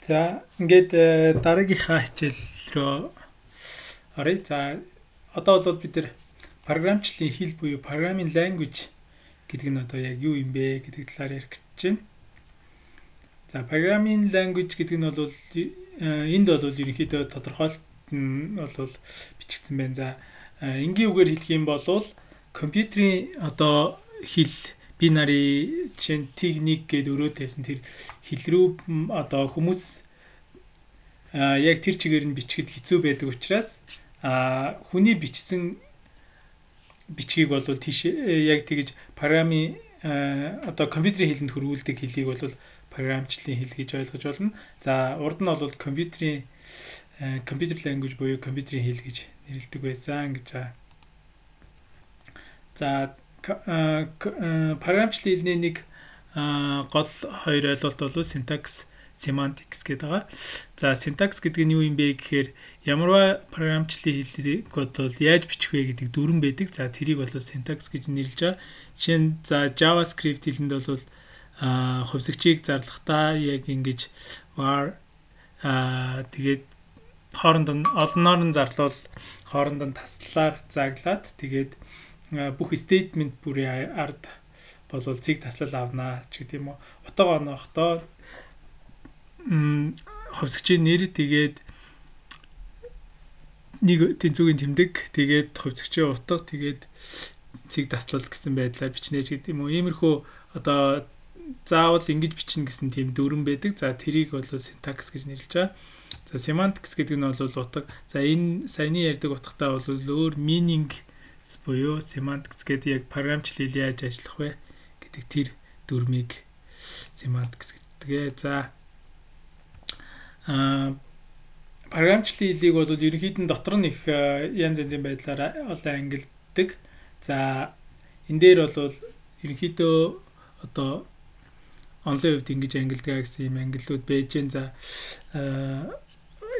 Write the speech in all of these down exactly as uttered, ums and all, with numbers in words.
За ингээд дараагийнхаа хичээл рүү оръё. За одоо бол бид нар програмчлалын хэл буюу programming language гэдэг нь одоо яг юу юм бэ гэдэг талаар ярих гэж байна. За programming language гэдэг нь бол энд бол ерөнхийдөө тодорхойлт нь бол бичигдсэн байна. За энгийн үгээр хэлэх юм бол компьютерийн одоо хэл binary chain technique гэдэг өрөө тавьсан тэр хэл рүү одоо хүмүүс яг тэр чигээр нь бичгэд хэцүү байдаг учраас хүний бичсэн бичгийг бол тийш яг тэгж програмын одоо компьютерийн хэлэнд хөрвүүлдэг хэлийг бол програмчлалын хэл гэж ойлгож болно. За урд нь бол компьютерийн computer language буюу компьютерийн хэл гэж нэрлэдэг байсан гэж байгаа. За програмчлалын хэлний нэг гол хоёр ойлголт бол syntax, semantics гэдэг байгаа. За syntax гэдэг нь юу юм бэ гэхээр ямарваа програмчлалын хэлийг бол яаж бичих вэ гэдэг дүрэн байдаг. За тэрийг бол syntax гэж нэрлэж байгаа. Жишээ нь за JavaScript хэлэнд бол хувьсгчийг зарлахдаа яг ингэж var тэгээд хооронд нь олноор нь зарлуул хооронд нь таслалаар заглаад тэгээд бүх statement бүрийн ард болвол цэг таслал авнаа ч гэдэг юм уу. Утга онохдоо хувьсгчийн нэр тэгээд нэг тэнцвүүгийн тэмдэг тэгээд хувьсгчийн утга тэгээд цэг таслал гэсэн байдлаар бичнэ ч гэдэг юм уу. Иймэрхүү одоо заавал ингэж бичнэ гэсэн тийм дүрэн байдаг. За тэрийг бол syntax гэж нэрлэж байгаа. За semantics гэдэг нь бол утга. За энэ саяны ярьдаг утгатай бол өөр meaning буюу semantics гэдэг яг програмчлал яаж ажиллах вэ гэдэг тэр дүрмийг semantics гэдэг. За а програмчлалын хэлийг бол ерөнхийдөө дотор нь их янз янзын байдлаар олон ангилдаг. За энэ дээр бол ерөнхийдөө одоо онлайн хувьд ингэж ангилдаг гэсэн юм ангиллууд байж гэн. За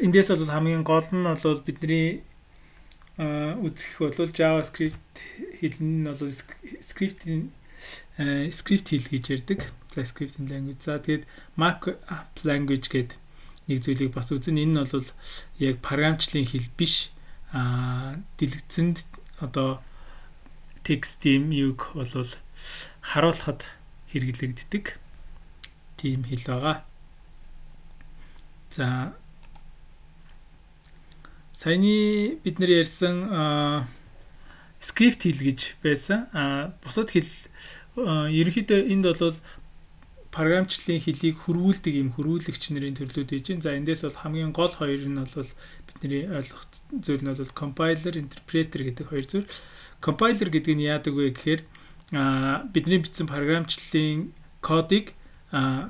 эндээс бол хамгийн гол нь бол бидний үзэх бол JavaScript хэл нь бол script-ийн script хэл гэж ярьдаг. За scripting language. За тэгээд markup language гэдэг нэг зүйлийг бас үзэн. Энэ нь бол яг програмчлалын хэл биш. А дэлгэцэнд одоо текстийн юг бол харуулхад хэрэглэгддэг тийм хэл байгаа. За саяны бид нар ярьсан скрипт хэл гэж байсан. А бусад хэл ерөнхийдөө энд бол програмчлалын хэлийг хөрвүүлдэг юм хөрвүүлэгч нарын төрлүүд байж байна. За эндээс бол хамгийн гол хоёр нь бол бидний ойлгох зүйл нь бол compiler, interpreter гэдэг хоёр зүйл. Compiler гэдэг нь яадаг вэ гэхээр бидний бичсэн програмчлалын кодыг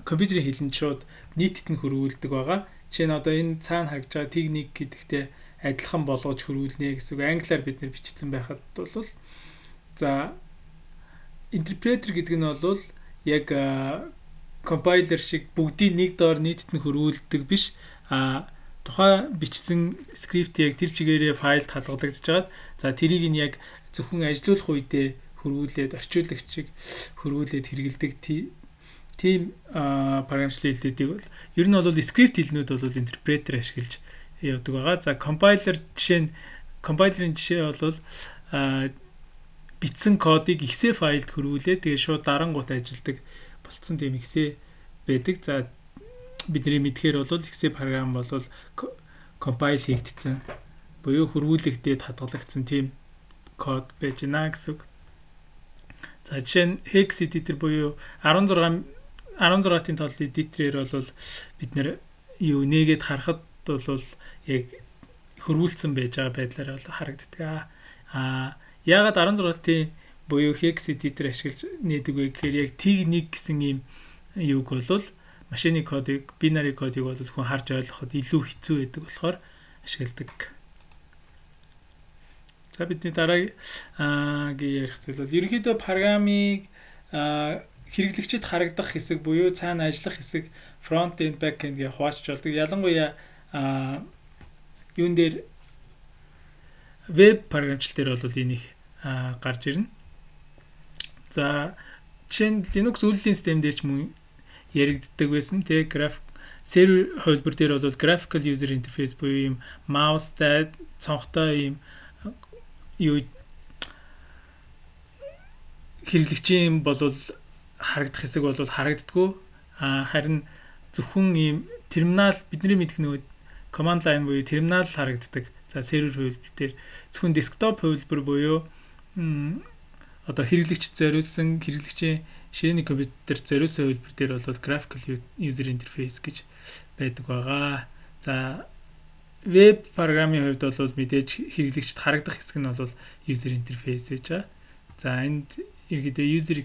компьютерийн хэлэнд шууд нийтэд нь хөрвүүлдэг байгаа. Жишээ нь одоо энэ цаана харагдж байгаа техник гэдэгтэй адилхан болгож хөрвүүлнэ гэсэн үг. Англиар бид нэр бичсэн байхад бол за интерпретер гэдэг нь бол яг компайлер шиг бүгдийг нэг доор нийтэд нь хөрвүүлдэг биш. А тухайн бичсэн скрипт яг тэр чигээрээ файлд хадгалагдаж байгаа. За тэрийг нь яг зөвхөн ажилуулах үедээ хөрвүүлээд орчуулагчийг хөрвүүлээд хэрэгэлдэг тийм програмчлалын хэлнүүдийг бол ер нь бол скрипт хэлнүүд бол интерпретер ашиглаж явдаг байгаа. За компайлер жишээ нь компайлерын жишээ бол бичсэн кодыг exe файлд хөрвүүлээд тэгээ шууд дарангуут ажилдаг болцсон тийм exe байдаг. За бидний мэдхээр бол exe програм бол компайл хийгдсэн буюу хөрвүүлэгдээд хадгалагдсан тийм код байж байна гэсэн үг. За жишээ нь hex editor буюу арван зургаан арван зургаатын толын editor-ээр бол бид нэр юу нээгээд харахад бол яг хөрвүүлсэн байж байгаа байдлаар бол харагддаг. А яагаад арван зургаатын буюу hex editor ашиглаж нээдэг вэ гэхээр яг техник гэсэн юм юуг бол машины кодыг binary кодыг бол хүн харж ойлгоход илүү хэцүү байдаг болохоор ашигладаг. За бидний дараагийн ярих зүйл бол ерөнхийдөө программыг хэрэглэгчид харагдах хэсэг буюу цаана ажиллах хэсэг front end back end гэж хуваачж болдог. Ялангуяа юун дээр веб програмчлал дээр бол энийг гарч ирнэ. За жишээ нь Linux үйлдвэрлэлийн систем дээр ч мөн яригддаг байсан. Тэг график сервер хувилбар дээр бол graphical user interface буюу ийм маустай цонхтой ийм юу хэрэглэгчийн бол харагдах хэсэг бол харагддаггүй. А харин зөвхөн ийм терминал бидний мэдэх нөгөө command line буюу терминал харагддаг. За сервер хувилбар дээр зөвхөн desktop хувилбар буюу одоо хэрэглэгч зориулсан хэрэглэгчийн ширээний компьютер зориулсан хувилбар дээр бол graphical user interface гэж байдаг байгаа. За веб программын хувьд бол мэдээж хэрэглэгчд харагдах хэсэг нь бол user interface гэж байгаа. За энд ерөнхийдөө user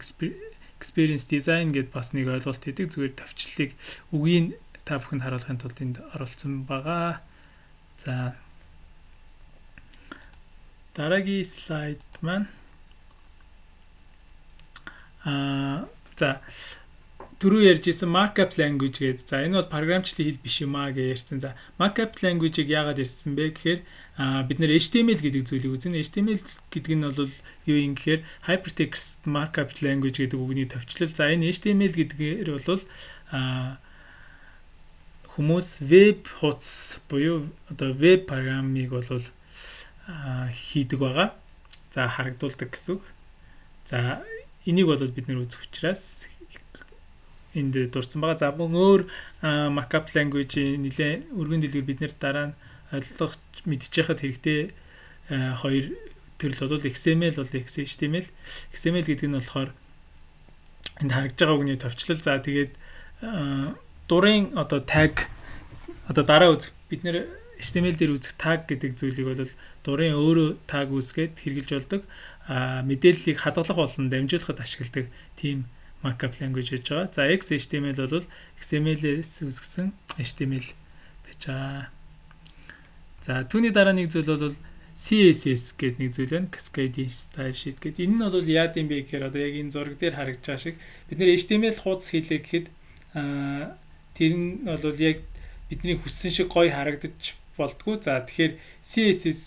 experience design гэдээ бас нэг ойлголт өгдөг. Зүгээр товчлолыг үгийг та бүхэнд харуулахын тулд энд оруулсан байгаа. За дараагийн слайд маань а за түрүү ярьжсэн markup language гэдэг. За энэ бол програмчлалын хэл биш юм аа гэж ярьсан. За markup language-ийг яагаад ярьсан бэ гэхээр бид нэр H T M L гэдэг зүйлийг үзнэ. H T M L гэдэг нь бол юу юм гэхээр hypertext markup language гэдэг үгний товчлол. За энэ H T M L гэдгээр бол хүмүүс веб хуудас буюу одоо веб программыг бол хийдэг байгаа. За харагдуулдаг гэсэн үг. За энийг бол бид нэр үзэх учраас энд дурдсан байгаа. За мөн өөр markup language-ийн нэлээд өргөн дэлгүүр бид нэр дараа нь ойлгох мэдчихэхэд хэрэгтэй хоёр төрөл бол X M L бол H T M L. X M L гэдэг нь болохоор энд харагдж байгаа үгний товчлол. За тэгээд дурын одоо tag одоо дараа үзэх бид нэр H T M L дээр үзэх tag гэдэг зүйлийг бол дурын өөрөө tag үүсгээд хэрэгжилж болдог. А мэдээллийг хадгалах болон дамжуулахад ашигладаг тийм markup language гэж байгаа. За X H T M L бол X M L-ээс үүсгэсэн H T M L байж байгаа. За түүний дараа нэг зүйл бол C S S гэдэг нэг зүйл байна. Cascade Style Sheet гэдэг. Энэ нь бол яад юм бэ гэхээр одоо яг энэ зураг дээр харагдж байгаа шиг бид нэр H T M L хуудас хийлээ гэхэд аа тэр нь бол яг бидний хүссэн шиг гоё харагдаж болдгоо. За тэгэхээр C S S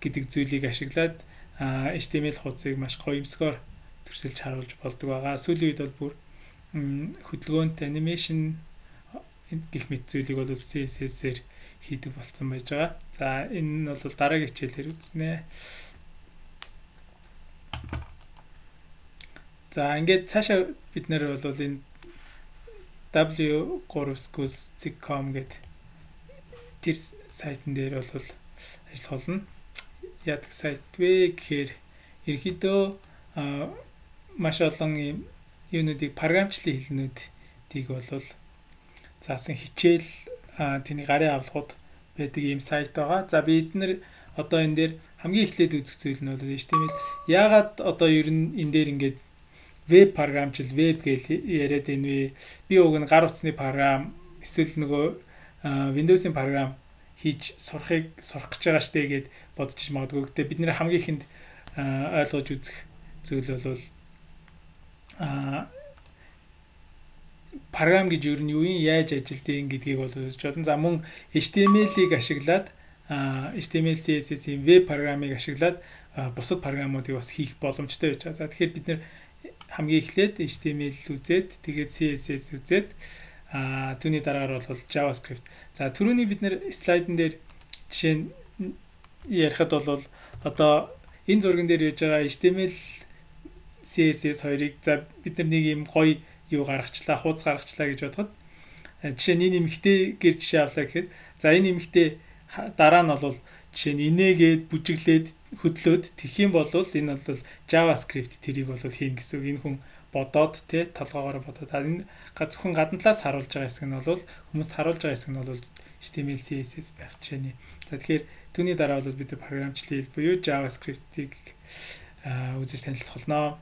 гэдэг зүйлийг ашиглаад H T M L хуудсыг маш гоёмсгоор төрсөлж харуулж болдог байгаа. Сүүлийн үед бол бүр хөдөлгөөнт анимашн гэх мэт зүйлийг бол C S S-ээр хийдэг болсон байж байгаа. За энэ нь бол дараагийн хичээлээр үзнэ. За ингээд цаашаа бид нэр бол энэ W three schools dot com гэдэг тэр сайтн дээр бол ажиллах болно. Яадаг сайт вэ гэхээр ерөнхийдөө маш олон юм юунуудыг програмчлалын хэлнүүдийг бол заасан хичээл тэний гарын авлагууд байдаг ийм сайт байгаа. За бид нэр одоо энэ дээр хамгийн эхлээд үзэх зүйл нь бол H T M L. Яагаад одоо ер нь энэ дээр ингээд веб програмчил веб гэж яриад энэ вэ? Би уг нь гар утасны програм эсвэл нөгөө Windows-ийн програм хийж сурахыг сурах гэж байгаа штэ гэд бодож магадгүй. Гэтэ бид нэр хамгийн ихэнд ойлгож үзэх зүйл бол а програм гэж ер нь юу юм яаж ажилдгийг гэдгийг бол үзэж болно. За мөн H T M L-ийг ашиглаад H T M L C S S-ийн веб програмыг ашиглаад бусад програмуудыг бас хийх боломжтой байж байгаа. За тэгэхээр бид нэр хамгийн эхлээд H T M L үзээд тэгээд C S S үзээд а түүний дараагаар бол JavaScript. За түрүүний бид нэр слайдн дээр жишээ нь ярихад бол одоо энэ зурган дээр яаж байгаа H T M L C S S хоёрыг за бид нар нэг юм гоё юу гаргачлаа, хуудас гаргачлаа гэж бодоход жишээ нь энэ эмэгтэй гэр жишээ авлаа гэхэд за энэ эмэгтэй дараа нь бол жишээ нь инээгээд бүжиглээд хөдлөөд тэгэх юм бол энэ бол JavaScript тэрийг бол хийн гэсэн. Энэ хүн бодоод те толгоогоор бодоод энэ зөвхөн гадна талаас харуулж байгаа хэсэг нь бол хүмүүст харуулж байгаа хэсэг нь бол H T M L C S S байх жишээний. За тэгэхээр түүний дараа бол бид програмчлалын хэл буюу JavaScript-ийг үзэж танилцуулнаа.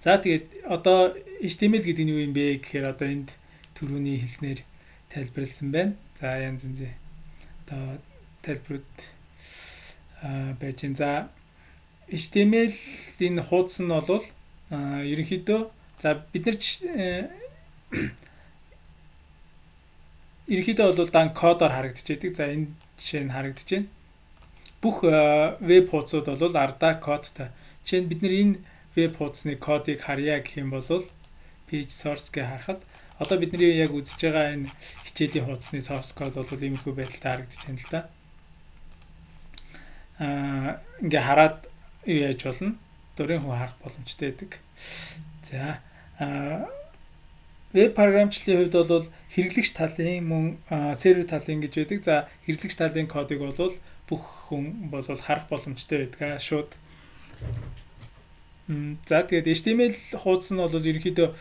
За тэгээд одоо H T M L гэдэг нь юу юм бэ гэхээр одоо энд түрүүний хэлснээр тайлбарлсан байна. За янз янзын одоо тайлбарууд байж байна. За H T M L-ийн хуудас нь бол ерөнхийдөө за бид нар ерөнхийдөө бол дан кодоор харагдчихэдэг. За энэ жишээ нь харагдаж байна. Бүх веб хуудасууд бол ардаа кодтой. Жишээ нь бид нар энэ веб хуудасны кодыг харьяа гэх юм бол page source гэ харахад одоо бидний яг үзэж байгаа энэ хичээлийн хуудасны source code бол иймэрхүү байдалтай харагдаж байна л да. Аа ингээ хараад юу яаж болно? Дөрийн хүн харах боломжтой байдаг. За аа веб програмчлалын хувьд бол хэрэглэгч талын мөн сервер талын гэж байдаг. За хэрэглэгч талын кодыг бол бүх хүн бол харах боломжтой байдаг шууд. За тэгээд эйч ти эм эл хуудас нь бол ерөнхийдөө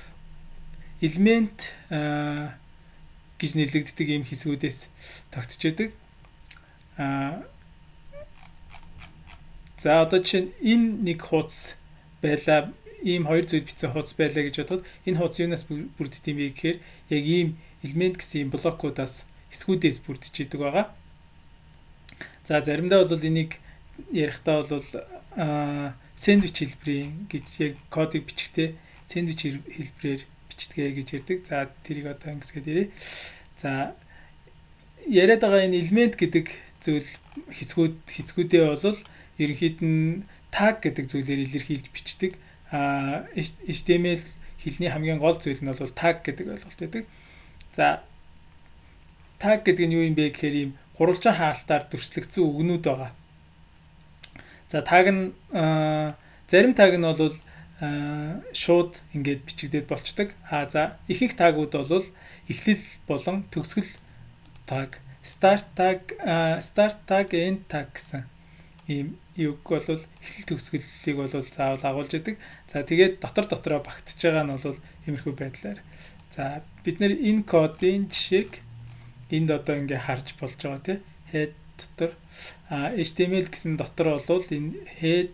элемент гэж нэрлэгддэг ийм хэсгүүдээс тогтож байдаг. Аа за одоо чинь энэ нэг хуудас байла, ийм хоёр зүйл бичсэн хуудас байлаа гэж бодоход энэ хуудас юунаас бүрддэг юм бэ гэхээр яг ийм элемент гэсэн ийм блокуудаас хэсгүүдээс бүрдэж идэг байгаа. За заримдаа бол энийг ярихдаа бол сэндвич хэлбэрийн гэж яг кодыг бичихтэй сэндвич хэлбэрээр бичдэг гэж ярьдаг. За тэрийг одоо ингэсгээд ярив. За яриад байгаа энэ элемент гэдэг зүйл хэсгүүд хэсгүүдээ бол ерөнхийд нь tag гэдэг зүйлээр илэрхийлж бичдэг. А эйч ти эм эл хэлний хамгийн гол зүйл нь бол tag гэдэг ойлголт байдаг. За tag гэдэг нь юу юм бэ гэхээр ийм гурвалжин хаалтаар дүрслэгдсэн үгнүүд байгаа. За tag нь зарим tag нь бол шууд ингээд бичигдээд болцдог. А за ихэнх тагууд бол эхлэл болон төгсгөл tag, start tag, start tag, end tag гэсэн ийм юг бол эхлэл төгсгөлийг бол заавал агуулж идэг. За тэгээд дотор дотроо багтж байгаа нь бол иймэрхүү байдлаар. За бид нэр энэ кодын жишээг энд одоо ингээ харж болж байгаа тий. Head дотор эйч ти эм эл гэсэн дотор бол энэ head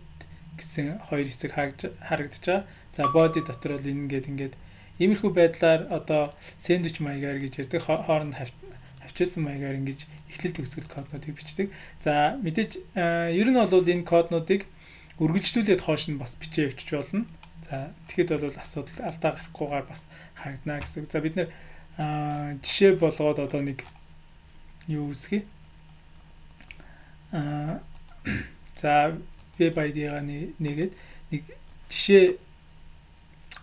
гэсэн хоёр хэсэг харагдаж байгаа. За body дотор бол энэ ингээд ингээд иймэрхүү байдлаар одоо сэндвич маягаар гэж ярьдаг, хооронд хавчилсан маягаар ингэж эхлэл төгсгөл коднуудыг бичдэг. За мэдээж ер нь бол энэ коднуудыг үргэлжлүүлээд хоош нь бас бичээ явчих болно. За тэгэхэд бол асуудал алдаа гарахгүйгээр бас харагдана гэсэн. За бид нэр жишээ болгоод одоо нэг юу үсгий. Аа за веб ай ди-га нэгээд нэг жишээ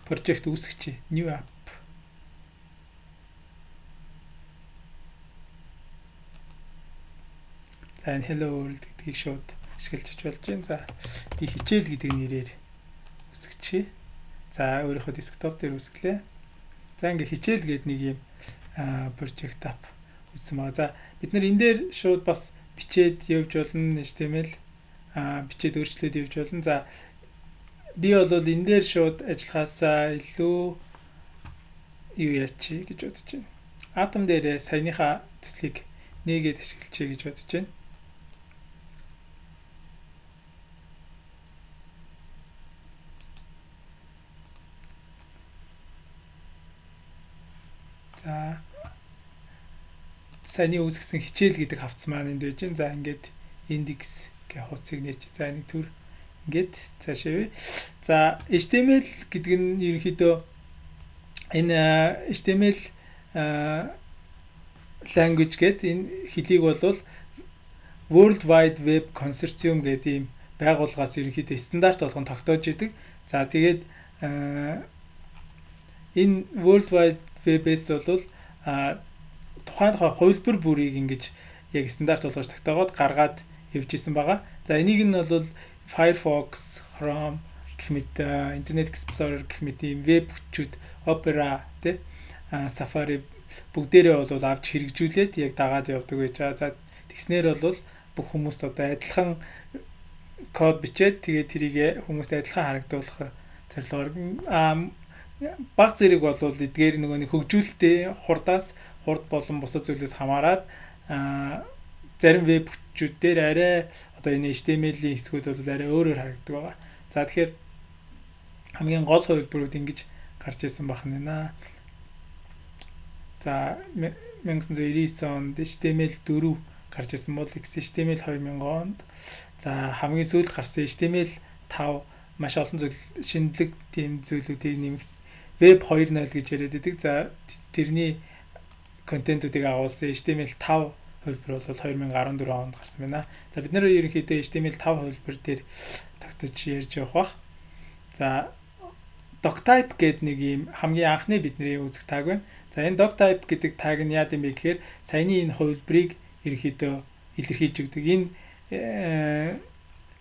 project үүсгэчихье. New app. За энэ hello world гэдгийг шууд ашиглаж болж байна. За би хичээл гэдэг нэрээр үүсгэчихье. За өөрийнхөө десктоп дээр үүсгэлээ. За ингээ хичээл гэдэг нэг юм project app үүссэн байгаа. За бид нар энэ дээр шууд бас бичээд явж болно, эйч ти эм эл а бичээд өөрчлөөд явж болно. За би бол энэ дээр шууд ажиллахаасаа илүү юу яач гэж бодож байна. Atom дээр саяныхаа төслийг нээгээд ашиглачээ гэж бодож байна. За саяны үүсгэсэн хичээл гэдэг хавц маань энд байж байна. За ингээд index гэх хуудсыг нээч. За нэг төр ингээд цаашаа. За эйч ти эм эл гэдэг нь ерөнхийдөө энэ эйч ти эм эл language гэдэг энэ хэлийг бол World Wide Web Consortium гэдэг ийм байгууллагаас ерөнхийдөө стандарт болгон тогтоож идэг. За тэгээд энэ World Wide Web-с бол тухайн тухайн хувилбар бүрийг ингэж яг стандарт болгож тогтоогоод гаргаад явж исэн байгаа. За энийг нь бол Firefox, Chrome гэх мэт Internet Explorer гэх мэт ийм веб хүчүүд, Opera тэ Safari бүгдээрээ бол авч хэрэгжүүлээд яг дагаад явдаг байж байгаа. За тэгснээр бол бүх хүмүүст одоо адилхан код бичээд тэгээд тэрийг хүмүүст адилхан харагдуулах зорилгоор баг зэрэг бол эдгээр нөгөө нэг хөгжүүлэлтээ хурдаас хурд болон бусад зүйлээс хамаарат зарим веб хүчүүд дээр арай одоо энэ эйч ти эм эл-ийн хэсгүүд бол арай өөрөөр харагддаг байгаа. За тэгэхээр хамгийн гол хувилбарууд ингэж гарч ирсэн байна. За 천구 девяносто онд эйч ти эм эл four гарч ирсэн бол эйч ти эм эл two thousand онд за хамгийн сүүлд гарсан эйч ти эм эл five маш олон зүйл шинэлэг тийм зүйлүүдийг нэмэгт веб two point null гэж яриад байдаг. За тэрний контентуудыг агуулсан эйч ти эм эл five хувилбар бол two thousand fourteen онд гарсан байна. За бид нэр ерөнхийдөө эйч ти эм эл five хувилбар дээр тогтож ярьж явах бах. За doctype гэдэг нэг юм хамгийн анхны бидний үзэх таг байна. За энэ doctype гэдэг таг нь яа гэм бэ гэхээр саяны энэ хувилбарыг ерөнхийдөө илэрхийлж өгдөг. Энэ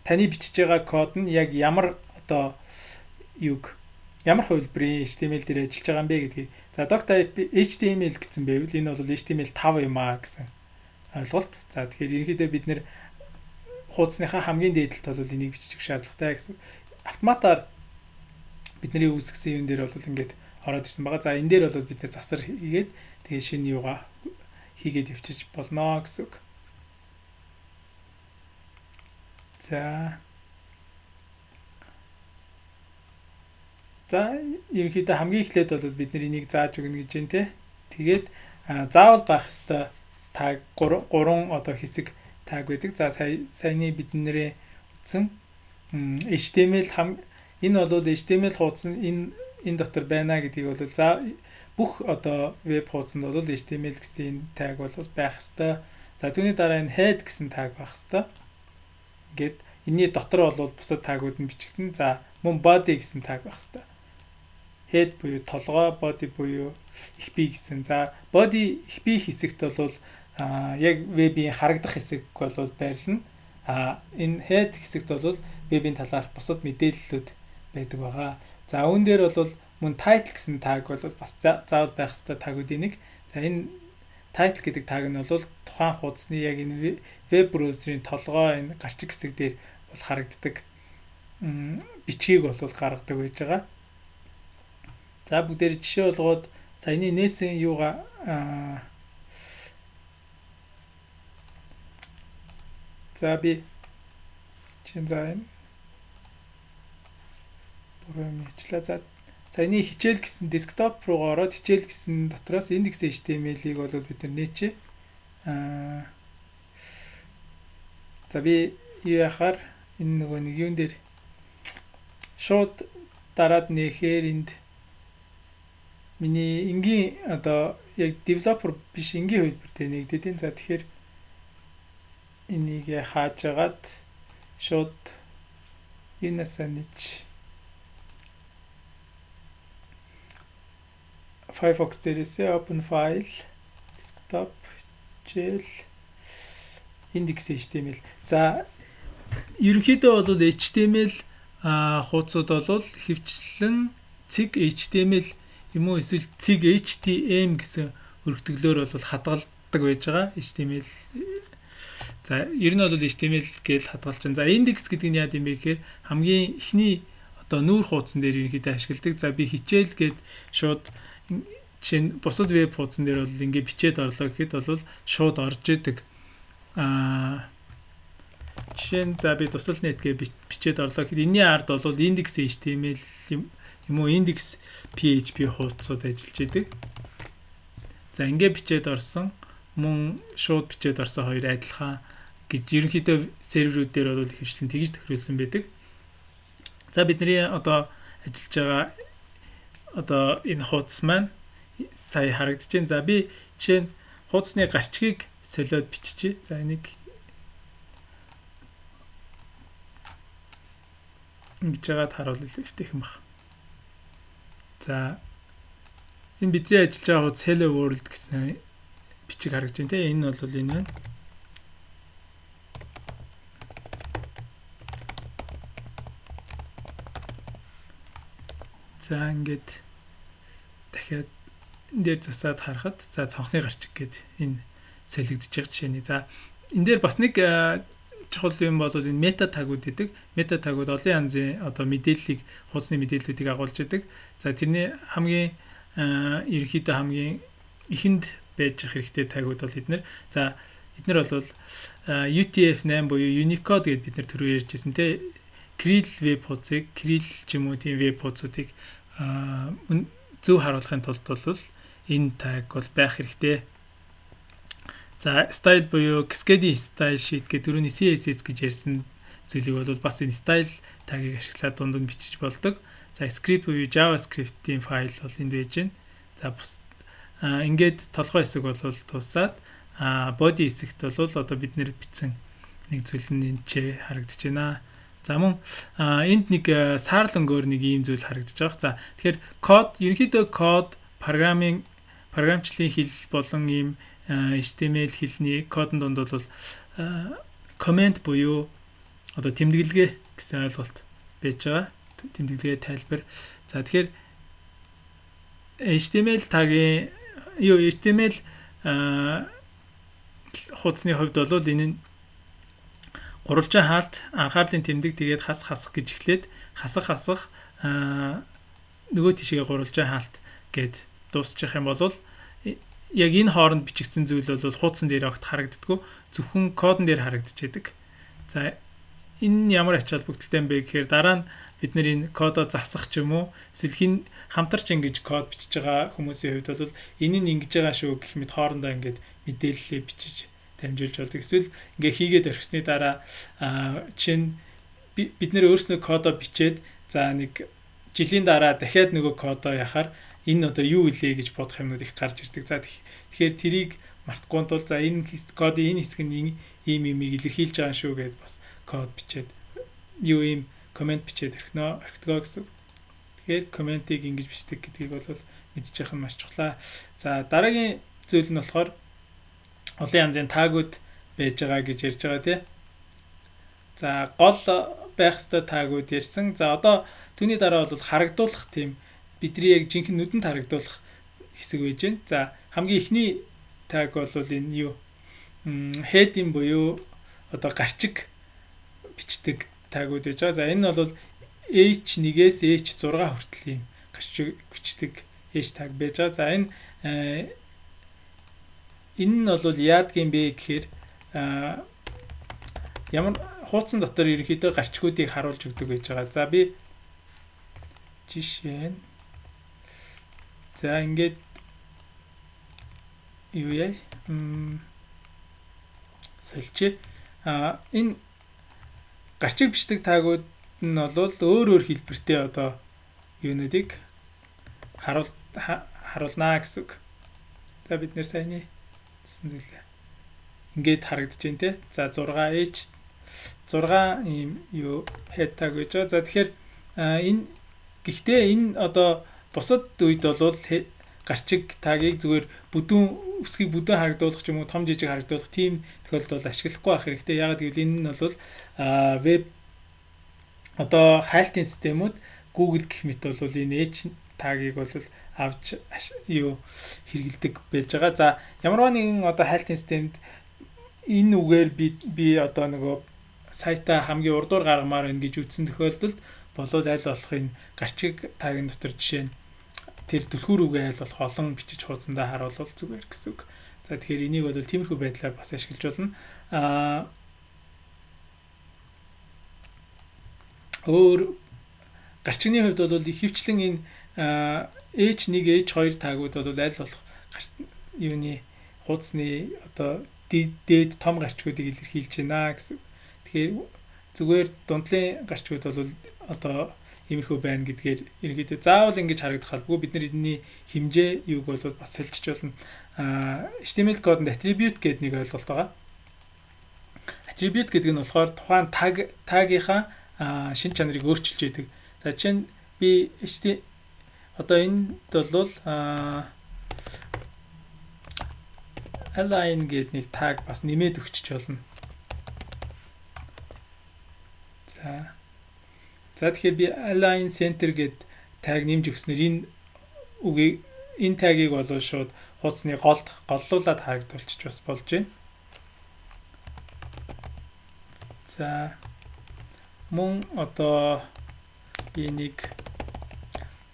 таны бичиж байгаа код нь яг ямар одоо юг ямар хувилбарын эйч ти эм эл дээр ажиллаж байгаа юм бэ гэдгийг. За doctype эйч ти эм эл гэсэн байвал энэ бол эйч ти эм эл five юм аа гэсэн ойлголт. За тэгэхээр ерөнхийдөө бид нэр хуудасныхаа хамгийн дээдлэлт бол энийг бичиж өгөх шаардлагатай гэсэн. Автоматар бидний үүсгэсэн юм дээр бол ингээд ороод ирсэн байгаа. За энэ дээр бол бид нэр засар хийгээд тэгээ шинэ юугаа хийгээд явчих болно гэсэн үг. За За ерөнхийдөө хамгийн эхлээд бол бид нар энийг зааж өгнө гэж байна те. Тэгээд заавал байх ёстой таг гурван одоо хэсэг таг байдаг. За саяны бидний утсан эйч ти эм эл хам энэ бол эйч ти эм эл хуудас нь энэ энэ дотор байна гэдгийг бол за бүх одоо веб хуудсанд бол эйч ти эм эл гэсэн таг бол байх ёстой. За түүний дараа энэ head гэсэн таг байх ёстой. Ингээд энэний дотор бол бусад тагууд нь бичигдэн. За мөн body гэсэн таг байх ёстой. Head буюу толгой, body буюу их бие гэсэн. За body их бие хэсэгт бол а яг вебийн харагдах хэсэг бол байрлана. А энэ head хэсэгт бол вебийн талаарх бусад мэдээллүүд байдаг байгаа. За үүн дээр бол мөн title гэсэн таг бол бас заавал байх ёстой тагуудын нэг. За энэ title гэдэг таг нь бол тухайн хуудасны яг энэ веб браузерын толгой энэ гарчиг хэсэг дээр бол харагддаг бичгийг бол гаргадаг байж байгаа. За бүгдээр жишээ болгоод саяны нээсэн юугаа за би чин зайн бүрэн мэдлээ. За саяны хичээл гэсэн десктоп руу ороод хичээл гэсэн дотроос index эйч ти эм эл-ийг бол бид нар нээчээ. Аа за би юу яхаар энэ нөгөө нэг юун дээр шууд дараад нээхээр энд миний энгийн одоо яг developer биш энгийн хувилбартай нэгдэдیں۔ За тэгэхээр энийг хааж агаад шууд юунасаа нэж Firefox дээрээсээ open file desktop gel index эйч ти эм эл. За ерөнхийдөө бол эйч ти эм эл хуудсууд бол хэвчлэн цэг эйч ти эм эл юм уу эсвэл цэг эйч ти эм гэсэн өргөтгөлөөр бол хадгалдаг байж байгаа. эйч ти эм эл за ер нь бол эйч ти эм эл гэж хадгалж байна. За index гэдэг нь яа гэм бэ гэхээр хамгийн эхний одоо нүүр хуудсан дээр ерөнхийдөө ашигладаг. За би хичээл гээд шууд чинь бусад веб хуудсан дээр бол ингээ бичээд орлоо гэхэд бол шууд орж идэг. Аа жишээ нь за би тусал net гэж бичээд орлоо гэхэд энэний ард бол index эйч ти эм эл юм уу index пи эйч пи хуудсууд ажиллаж идэг. За ингээ бичээд орсон мөн шууд бичээд орсон хоёр адилхан гэж ерөнхийдөө серверүүд дээр бол хвчлэн тэгж тохируулсан байдаг. За бидний одоо ажиллаж байгаа одоо энэ хуудас маань сая харагдаж байна. За би жишээ нь хуудасны гарчгийг солиод биччихье. За энийг ингэж яагаад харуулъя хэвтэх юм баг. За энэ бидний ажиллаж байгаа хуудас Hello World гэсэн бичиг харагдаж байна те. Энэ бол энэ байна. За ингээд дахиад энэ дээр засаад харахад за цонхны гарчиг гээд энэ солигдож байгаа жишээний. За энэ дээр бас нэг чухал юм бол энэ мета тагууд гэдэг. Мета тагууд олон янзын одоо мэдээллийг хуудасны мэдээллүүдийг агуулж идэг. За тэрний хамгийн ерөнхийдөө хамгийн ихэнд байж ах хэрэгтэй тагууд бол эднэр. За эднэр бол ю ти эф eight буюу Unicode гэдээ бид нэр түрүү ярьжсэн те. Krill веб хуудсыг, Krill ч юм уу тийм веб хуудсуудыг зөв харуулахын тулд бол энэ таг бол байх хэрэгтэй. За style буюу cascading style sheet гэдэг түрүүний си эс эс гэж ярьсан зүйлийг бол бас энэ style тагийг ашиглаад дунд нь бичиж болдог. За script буюу JavaScript-ийн файл бол энд байж байна. За ингээд толгой хэсэг бол тусаад body хэсэгт бол одоо бид нэр бичсэн нэг зүйл нь энэ ч харагдаж байна. За мөн энд нэг саарлангөөр нэг ийм зүйл харагдаж байгаа. За тэгэхээр код ерөнхийдөө код программын програмчлалын хэл болон ийм эйч ти эм эл хэлний кодын донд бол коммент буюу одоо тэмдэглэгээ гэсэн ойлголт байж байгаа. Тэмдэглэгээ тайлбар. За тэгэхээр эйч ти эм эл тагийн юу эйч ти эм эл хуудасны хувьд бол энэ нь гурвалжин хаалт анхаарлын тэмдэг тэгээд хас хасах гэж эхлээд хасах хасах нөгөө тишгээ гурвалжин хаалт гэд дуусчих юм бол яг энэ хооронд бичигдсэн зүйл бол хуудсан дээр огт харагддаггүй зөвхөн кодон дээр харагдчихэдэг. За энэ ямар ач холбогдолтой юм бэ гэхээр дараа нь бид нэр энэ кодоо засах ч юм уу эсвэл хин хамтарч ингэж код бичиж байгаа хүмүүсийн хувьд бол энэ нь ингэж байгаа шүү гэх мэт хоорондоо ингэж мэдээлэлээ бичиж дамжуулж болдог. Эсвэл ингээ хийгээд орхисны дараа чинь бид нэр өөрснөө кодоо бичээд за нэг жилийн дараа дахиад нөгөө кодоо яхаар энэ одоо юу илээ гэж бодох юмнууд их гарч ирдэг. За тэгэхээр тэрийг мартахгүй тул за энэ кодын энэ хэсэг нь ийм имийг илэрхийлж байгаа шүү гэдээ бас код бичээд юу ийм коммент бичээд орхиноо орхитгоо гэсэн. Тэгэхээр комментиг ингэж бичдэг гэдгийг бол мэдчих нь маш чухлаа. За дараагийн зүйл нь болохоор олон янзын таагууд байж байгаа гэж ярьж байгаа тий. За гол байх ёстой таагууд ярьсан. За одоо түүний дараа бол харагдуулах тийм бидний яг жинхэнэ нүдэнд харагдуулах хэсэг байж байна. За хамгийн ихний тааг бол энэ юу head-ийн буюу одоо гарчиг бичдэг таагууд байж байгаа. За энэ бол эйч нэгээс эйч зурга хүртэл юм гарчиг бичдэг эйч тааг байж байгаа. За энэ энэ нь бол яадгийн бэ гэхээр ямар хуудсан дотор ерөнхийдөө гарчгуудыг харуулж өгдөг байж байгаа. За би жишээ нь за ингээд юу яа сэлчээ а энэ гарчиг бичдэг таагууд нь бол өөр өөр хэлбэртэй одоо юунуудыг харуул харуулнаа гэсэн үг. За бид нэр сайн зүйлээ ингээд харагдаж байна те. За зураг эйч зураг ийм юу head tag гэж байгаа. За тэгэхээр энэ гэхдээ энэ одоо бусад үед бол гарчиг тагийг зүгээр бүдүүн үсгийг бүдүүн харагдуулах ч юм уу том жижиг харагдуулах тийм тохиолдолд ашиглахгүй байх хэрэгтэй. Ягаад гэвэл энэ нь бол веб одоо хайлтын системүүд Google гэх мэт бол энэ H тагийг бол авч юу хэрэгэлдэг байж байгаа. За ямар нэгэн одоо хайлтын системд энэ үгээр би би одоо нөгөө сайтаа хамгийн урдуур гаргамаар байна гэж үзсэн тохиолдолд болоод аль болох энэ гарчиг тагийн дотор жишээ нь тэр түлхүүр үгээ аль болох олон бичиж хуудсандаа харуулвал зүгээр гэсэн үг. За тэгэхээр энийг бол тиймэрхүү байдлаар бас ашиглаж болно. Аа өөр гарчигны хувьд бол ихэвчлэн энэ эйч one эйч two таагууд бол аль болох юуны хуудасны одоо дээд том гарчгуудыг илэрхийлж байна гэсэн. Тэгэхээр зүгээр дундлын гарчгууд бол одоо иймэрхүү байна гэдгээр ерөнхийдөө заавал ингэж харагдах албагүй. Бид нар эдний хэмжээ юуг бол бас хэлчих болно. А эйч ти эм эл кодонд attribute гэдэг нэг ойлголт байгаа. Attribute гэдэг нь болохоор тухайн tag tagийнхаа шин чанарыг өөрчилж яадаг. За жишээ нь би ht одоо энд бол align гэдэг нэг tag бас нэмээд өгчөж болно. За За тэгэхээр би align center гэд tag нэмж өгснээр энэ үгийг энэ tag-ыг бол шууд хуудасны голд голлуулаад харагдуулчих бас болж байна. За мөн одоо энийг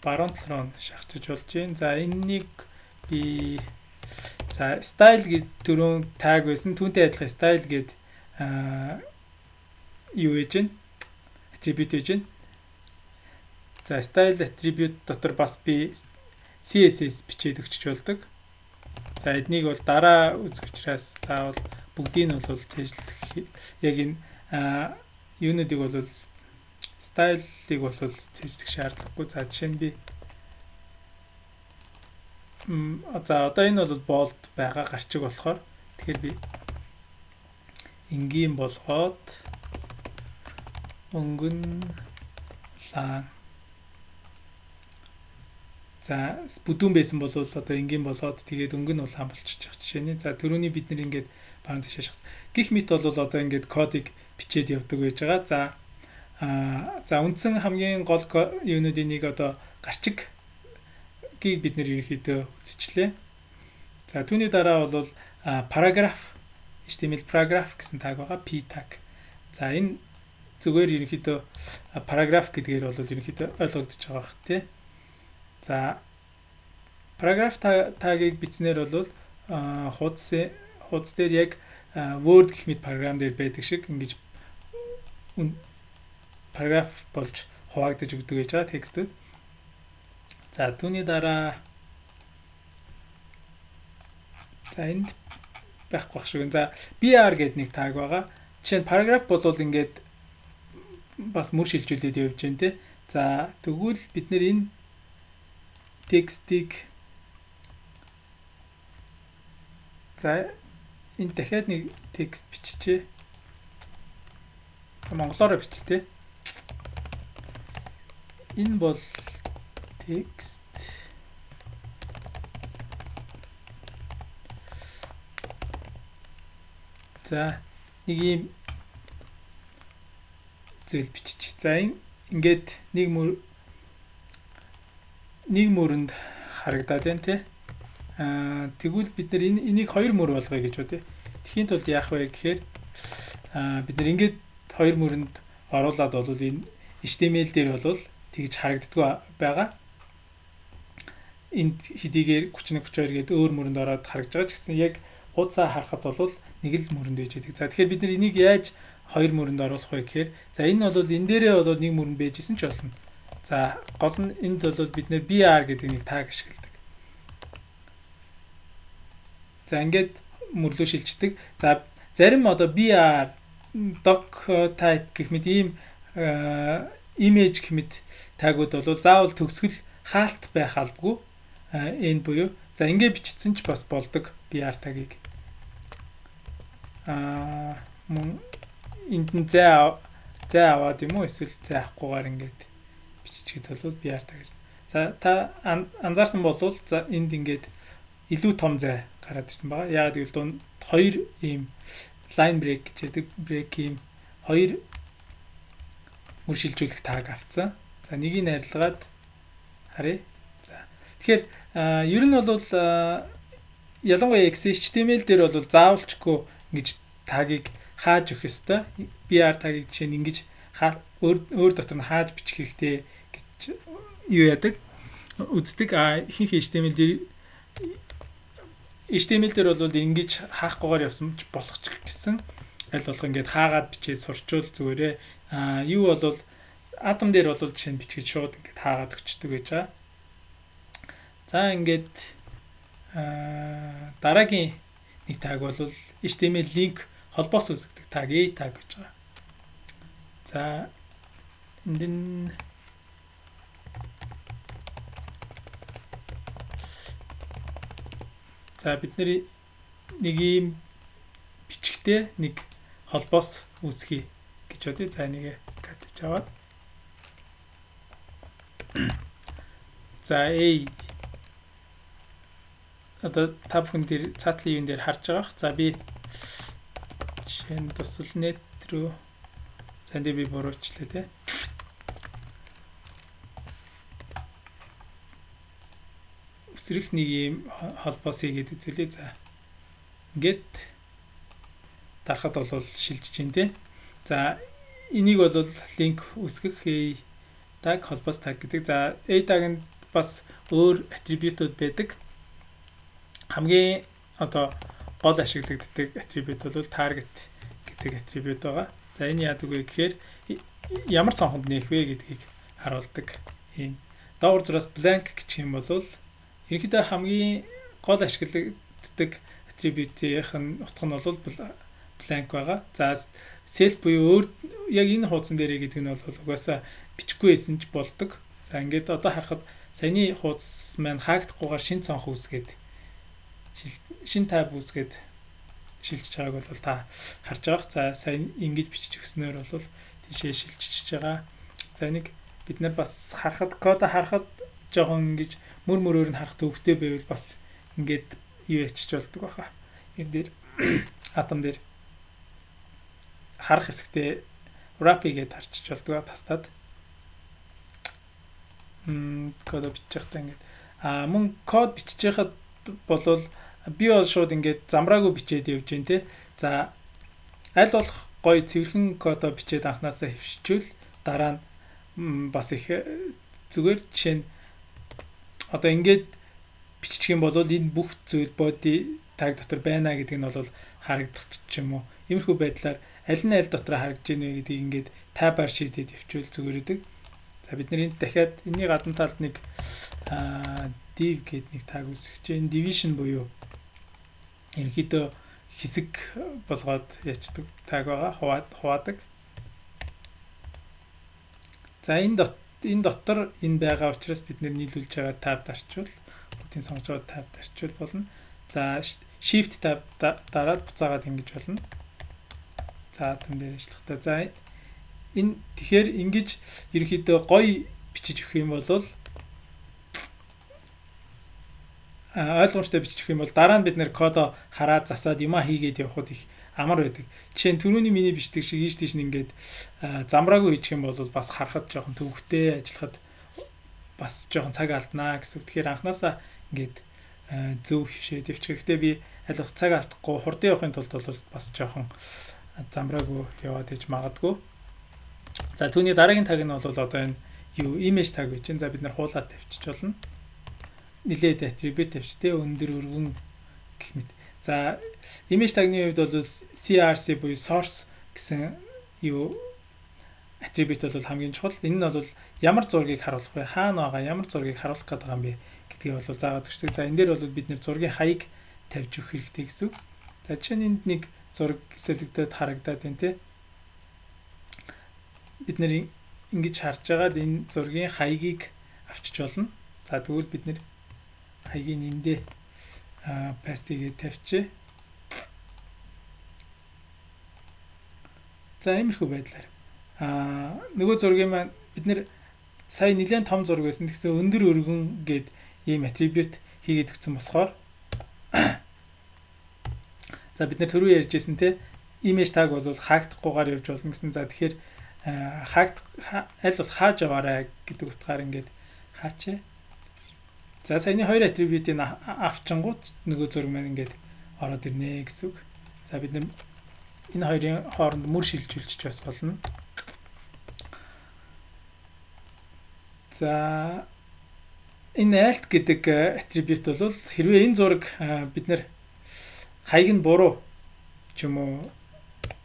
баруун талруу шахажиж болж байна. За энэнийг би за style гэд түрүүн tag байсан. Түүнтэй адилхан style гэд юу гэж байна? Attribute гэж байна. За style attribute дотор бас би си эс эс бичээд өгчөж болдог. За эднийг бол дараа үзэх учраас заавал бүгдийг нь бол цээжлэх яг энэ юунуудыг бол стайлыг бол цээжлэх шаардлагагүй. За жишээ нь би м за одоо энэ бол bold байгаа гарчиг болохоор тэгэхээр би энгийн болгоод өнгөн лан. За бүдүүн байсан бол одоо энгийн болоод тэгээд өнгөн улаан болчихж байгаа жишээний. За түрүүний бид нэр ингээд баг тийшээ шахсан. Гэх мэт бол одоо ингээд кодыг бичээд явдаг байж байгаа. За аа за үндсэн хамгийн гол юунуудын нэг одоо гарчиг гийг бид нэр ерөнхийдөө үзчихлээ. За түүний дараа бол параграф эйч ти эм эл paragraph гэсэн таг байгаа, p tag. За энэ зүгээр ерөнхийдөө paragraph гэдгээр бол ерөнхийдөө ойлгогдож байгаа бах тий. За paragraph тагийг бичснээр бол хуудас хуудас дээр яг Word гэх мэт програм дээр байдаг шиг ингэж paragraph болж хуваагдаж өгдөг гэж байгаа текстүүд. За түүний дараа за энд байхгүй байх шиг. За br гэдэг нэг таг байгаа. Жишээ нь paragraph бол ингээд бас мөр шилжүүлээд явж байна те. За тэгвэл бид нэр энэ текстийг за энэ дахиад нэг текст биччихье. Монголоор бичих те. Энэ бол текст за нэг юм зүйл бичиж. За энэ ингээд нэг мөр нэг мөрөнд харагдаад байна тий. Аа тэгвэл бид нар энэ энийг хоёр мөр болгоё гэж бодъё. Тэхийн тулд яах вэ гэхээр аа бид нар ингээд хоёр мөрөнд оруулаад бол энэ эйч ти эм эл дээр бол тэгж харагддаг байгаа. Энд хэдийгээр тридцать one тридцать two гээд өөр мөрөнд ороод харагдж байгаа ч гэсэн яг хуудасаа харахад бол нэг л мөрөнд байж байдаг. За тэгэхээр бид нар энийг яаж хоёр мөрөнд оруулах вэ гэхээр за энэ бол энэ дээрээ бол нэг мөрөнд байжсэн ч болно. За гол нь энд бол бид нэр br гэдэг нэг таг ашигладаг. За ингээд мөрлөө шилждэг. За зарим одоо br doc type гэх мэт ийм image гэх мэт тагууд бол заавал төгсгөл хаалт байх албагүй. Энэ буюу за ингээд бичсэн ч бас болдог br тагийг. Аа мөн энд нь зай зай аваад юм уу эсвэл зай авахгүйгээр ингээд биччихэд бол br таг гэж. За та анзаарсан болвол за энд ингээд илүү том зай гараад ирсэн байгаа. Яагаад гэвэл дунд хоёр ийм line break гэж ярьдаг break ийм хоёр мөр шилжүүлэх таг авцсан. За нэгийг арилгаад харъя. За тэгэхээр ер нь бол ялангуяа эйч ти эм эл дээр бол заавалчгүй ингэж тагийг хааж өгөх ёстой. br тагийг жишээ нь ингэж өөр өөр дотор нь хааж бичих хэрэгтэй гэж юу яадаг үздэг. А ихэнх эйч ти эм эл дээр эйч ти эм эл дээр бол ингэж хаахгүйгээр явсан ч болох ч гэсэн аль болох ингэж хаагаад бичээ сурчвал зүгээрээ а юу бол атом дээр бол жишээ нь бичгээд шууд ингэж хаагаад өгчдөг гэж байгаа. За ингээд а дараагийн нэг таг бол эйч ти эм эл link холбоос үүсгдэг таг A tag гэж байгаа. За энд за бид нэг ийм бичгтээ нэг холбоос үүсгэе гэж бодъё. За энийг катж аваад за A одоо та бүхэн дээр цаатлын юун дээр харж байгаа. За би жишээ нь тусал net руу за энэ би буруучлаа те. Өсрөх нэг юм холбоос хийгээд үзүүлээ. За ингээд дарахад бол шилжиж байна те. За энийг бол линк үүсгэх A tag холбоос tag гэдэг. За A tag-нд бас өөр атрибутууд байдаг. Хамгийн одоо гол ашиглагддаг атрибут бол target гэдэг атрибут байгаа. За энэ яадаг вэ гэхээр ямар цонхонд нээх вэ гэдгийг харуулдаг. Ийм доогуур зураас blank гэх юм бол ерөнхийдөө хамгийн гол ашиглагддаг атрибутийнх нь утга нь бол blank байгаа. За self буюу өөр яг энэ хуудсан дээр гэдэг нь бол угаасаа бичихгүй байсан ч болдог. За ингээд одоо харахад саяны хуудас маань хаагдахгүйгээр шин цонх үүсгээд шин тайп үүсгээд шилжиж байгааг бол та харж байгаа. За сайн ингэж бичиж өгснөөр бол тийшээ шилжиж байгаа. За энийг бид нар бас харахад код харахад жоохон ингэж мөр мөрөөр нь харах төвхтэй байвал бас ингээд юу ячиж болдог баха. Энэ дээр атом дээр харах хэсэгтээ wrap-ийг харчиж болдог тастаад. Мм код бичих та ингээд а мөн код бичиж байхад болвол би бол шууд ингээд замраагүй бичээд явж гин те. За аль болох гоё цэвэрхэн кодо бичээд анханасаа хөвшчүүл дараа нь бас их зүгээр жишээ нь одоо ингээд бичих юм бол энэ бүх зүйл body tag дотор байна гэдэг нь бол харагдах ч юм уу. Иймэрхүү байдлаар аль нь аль дотор харагдж ийнэ гэдгийг ингээд табаар шийдээд явуул зүгээр үүдэг. За бид нар энд дахиад энэний гадна талд нэг div гэдэг нэг tag үүсгэж байна. Division буюу ерөнхийдөө хэсэг болгоод ячдаг tag байгаа. Хуваадаг. За энэ дот энэ дотор энэ байгаа учраас бид нэр нийлүүлж байгаа tab дарчвал бүгдийн сонгож байгаа tab дарчвал болно. За shift tab дараад буцаагаад ингэж болно. За тэн дээр ажиллахтаа. За энэ тэгэхээр ингэж ерөнхийдөө гоё бичиж өгөх юм бол ойлгомжтой бичих юм бол дараа нь бид нэр кодо хараад засаад юма хийгээд явхад их амар байдаг. Жишээ нь түрүүний миний бичдэг шиг ийш тийш нэгээд замраагүй хийчих юм бол бас харахад жоохон төвөгтэй ажиллахад бас жоохон цаг алднаа гэсэн. Тэгэхээр анханасаа ингээд зөв хөвшөөд явчих. Гэхдээ би аль болох цаг алдахгүй хурдан явахын тулд бол бас жоохон замраагүй яваад иж магадгүй. За түүний дараагийн таг нь бол одоо энэ юу image tag гэж байна. За бид нар хуулаад тавьчих болно. Нилээд attribute тавьчтэй өндөр өргөн гэх мэт. За image tag-ны хувьд бол C R C буюу source гэсэн юу attribute бол хамгийн чухал. Энэ нь бол ямар зургийг харуулах вэ? Хаана байгаа ямар зургийг харуулах гэдэг юм бэ гэдгийг бол заагаад өгчдөг. За энэ дээр бол бид нэр зургийн хаяг тавьж өгөх хэрэгтэй гэсэн үг. За жишээ нь энд нэг зураг хэсэлэгдээд харагдаад байна те. Бид нэр ингэж харж байгаад энэ зургийн хаягийг авчиж болно. За тэгвэл бид нэр хаягийн эндээ пастигээ тавьчих. За иймэрхүү байдлаар аа нөгөө зургийн маань бид нэр сая нэлээд том зураг байсан. Тэгсэн өндөр өргөн гээд ийм attribute хийгээд өгсөн болохоор за бид нэр түрүү ярьжсэн те image tag бол хаагдахгүйгээр явж болно гэсэн. За тэгэхээр хаагд аль бол хааж аваарай гэдэг утгаар ингээд хаачаа. За саяны хоёр attribute-ийг авчингууд нөгөө зураг маань ингээд ороод ирнэ гэсэн үг. За бид нар энэ хоёрын хооронд мөр шилжүүлчих бас болно. За энэ alt гэдэг attribute бол хэрвээ энэ зураг бид нар хаяг нь буруу ч юм уу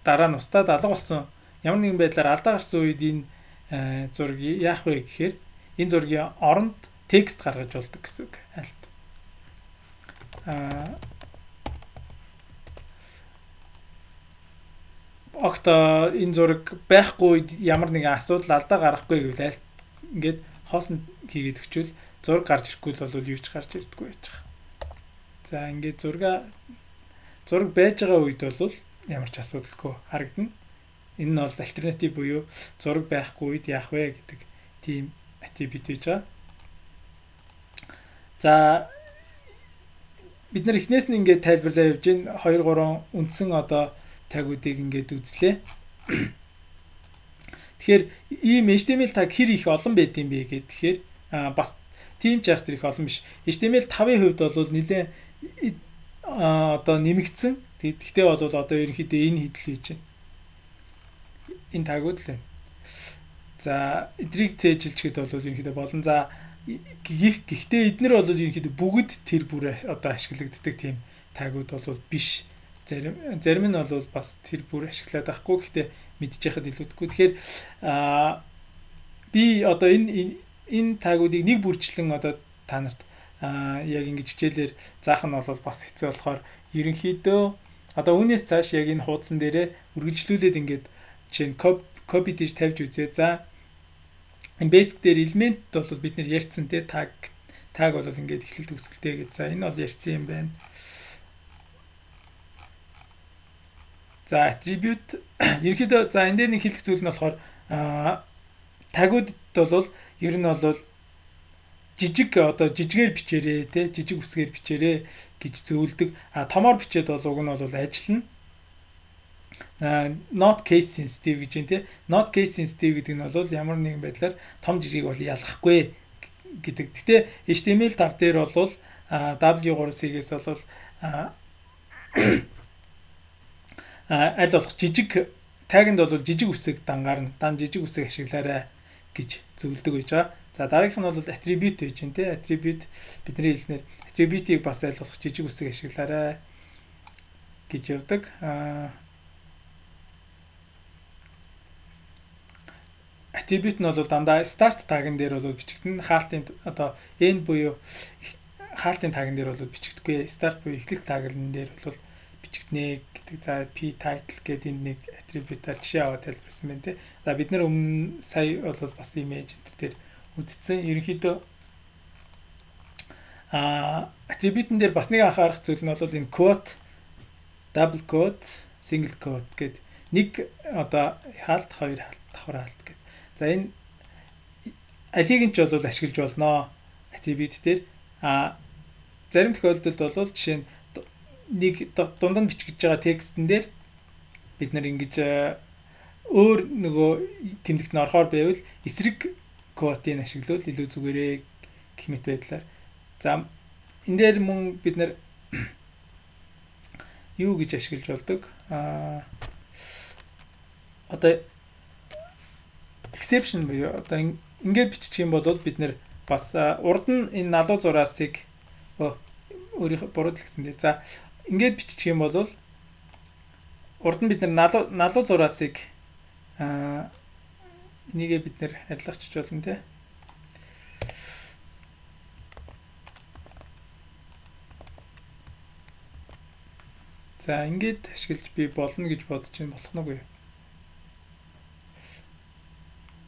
дараа нь устдад алга болсон ямар нэгэн байдлаар алдаа гарсан үед энэ зургийг яах вэ гэхээр энэ зургийн оронд текст гаргаж болдог гэсэн үг. Alt. Аа огт энэ зураг байхгүй үед ямар нэгэн асуудал алдаа гарахгүй гэвэл alt ингээд хоосон хийгээд өгчвөл зураг гарч ирэхгүй бол юу ч гарч ирдэггүй байж байгаа. За ингээд зурга зураг байж байгаа үед бол ямар ч асуудалгүй харагдана. Энэ нь бол альтернатив буюу зураг байхгүй үед яах вэ гэдэг тийм attribute гэж байгаа. За бид нар эхнээс нь ингээд тайлбарлаа явж гин хоёр гурван үндсэн одоо тагуудыг ингээд үзлээ. Тэгэхээр ийм H T M L tag хэр их олон байд юм бэ гэхэд тэгэхээр бас тийм ч яах тэр их олон биш. H T M L five-ийн хувьд бол нэлээ одоо нэмэгдсэн. Тэгэхдээ бол одоо ерөнхийдөө энэ хідэл хийж байна. Энэ тагууд л байна. За эдрийг цээжилчгэд бол ерөнхийдөө болон за гэхдээ эднэр бол ерөнхийдөө бүгд тэр бүр одоо ашиглагддаг тийм тагууд бол биш. Зарим зарим нь бол бас тэр бүр ашиглаад байхгүй. Гэхдээ мэдчихэхэд илүүдгүй. Тэгэхээр аа би одоо энэ энэ тагуудыг нэг бүрчлэн одоо та нарт аа яг ингэж хичээлээр заах нь бол бас хэцүү болохоор ерөнхийдөө одоо үүнээс цааш яг энэ хуудсан дээрээ үргэлжлүүлээд ингээд жишээ нь copy гэж тавьж үзье. За энэ basic дээр элемент бол бид нэр ярьсан те tag tag бол ингээд эхлэл төгсгөлтэй гэж. За энэ бол ярьсан юм байна. За attribute ерөнхийдөө за энэ дээр нэг хэлэх зүйл нь болохоор а тагуудад бол ер нь бол жижиг одоо жижигээр бичээрээ те жижиг үсгээр бичээрээ гэж зөвлөдөг. А томоор бичээд бол уг нь бол ажиллана. Not case sensitive гэж юм те. Not case sensitive гэдэг нь бол ямар нэгэн байдлаар том жижиг бол ялахгүй гэдэг. Гэтэ эйч ти эм эл five дээр бол дабл ю three C-гээс бол аль болох жижиг тагинд бол жижиг үсэг дангаар нь дан жижиг үсэг ашиглаарай гэж зөвлөдөг байж байгаа. За дараагийнх нь бол attribute гэж байна те. Attribute бидний хэлснээр attribute-ийг бас аль болох жижиг үсэг ашиглаарай гэж явдаг. Аа attribute нь бол дандаа start tag-ын дээр бол бичигдэн хаалтын одоо n буюу хаалтын тагн дээр бол бичигдэхгүй. Start буюу эхлэх таглан дээр бол бичигднэ гэдэг. За p title гэдэг энэ нэг attribute-аар жишээ аваад тайлбарсан байна те. За бид нар өмнө сая бол бас image энэ төр үздсэн. Ерөнхийдөө а attribute-н дээр бас нэг анхаарах зүйл нь бол энэ quote, double quote, single quote гэдэг нэг одоо хаалт, хоёр хаалт, давхар хаалт гэдэг. За энэ алиг нь ч бол ашиглаж болно attribute дээр. А зарим тохиолдолд бол жишээ нь нэг дунд нь бичиж байгаа текстэн дээр бид нар ингэж өөр нөгөө тэмдэгт нь орохоор байвал эсрэг quote-ийг ашиглавал илүү зүгээрээ гэх мэт байдлаар. За энэ дээр мөн бид нар юу гэж ашиглаж болдог? А одоо exception буюу одоо ингээд биччих юм бол бид нэр бас урд нь энэ налуу зураасыг өөрийнхөө бурууд гэсэн дээр за ингээд биччих юм бол урд нь бид нар налуу налуу зураасыг а энийгээ бид нэр арилгахч болно те. За ингээд ашиглаж би болно гэж бодож чинь болох нь үгүй.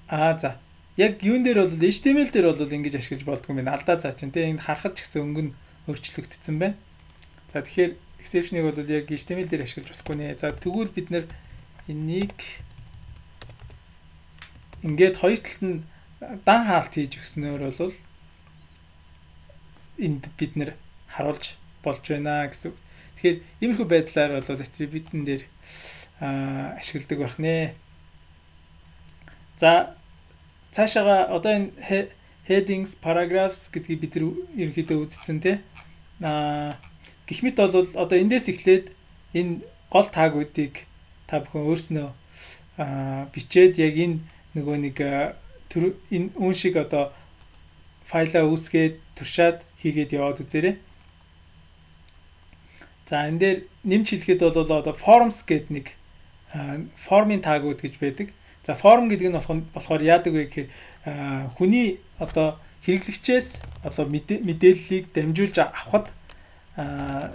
Аа за яг юун дээр бол эйч ти эм эл дээр бол ингэж ашиглаж болдгоо юм байна. Алдаа цаа чинь те энд харахад ч гэсэн өнгө нь өөрчлөгдсөн байна. За тэгэхээр exception-ыг бол яг эйч ти эм эл дээр ашиглаж болохгүй нэ. За тэгвэл бид нэр энийг ингээд хоёр талд нь дан хаалт хийж өгснөөр бол энд бид нэр харуулж болж байна гэсэн. Тэгэхээр иймэрхүү байдлаар бол attribute-н дээр ашигладаг байх нэ. За цаашаага одоо энэ headings, paragraphs гэдгийг бид ерөнхийдөө үзсэн те. Аа гэх мэт бол одоо эндээс эхлээд энэ гол таагуудыг та бүхэн өөрснөө аа бичээд яг энэ нөгөө нэг энэ үн шиг одоо файлаа үүсгээд туршаад хийгээд яваад үзээрэй. За энэ дээр нэмж хэлэхэд бол одоо forms гэдэг нэг формын таагууд гэж байдаг. За форм гэдэг нь болохоор яадаг вэ гэхээр хүний одоо хэрэглэгчээс одоо мэдээллийг дамжуулж авахд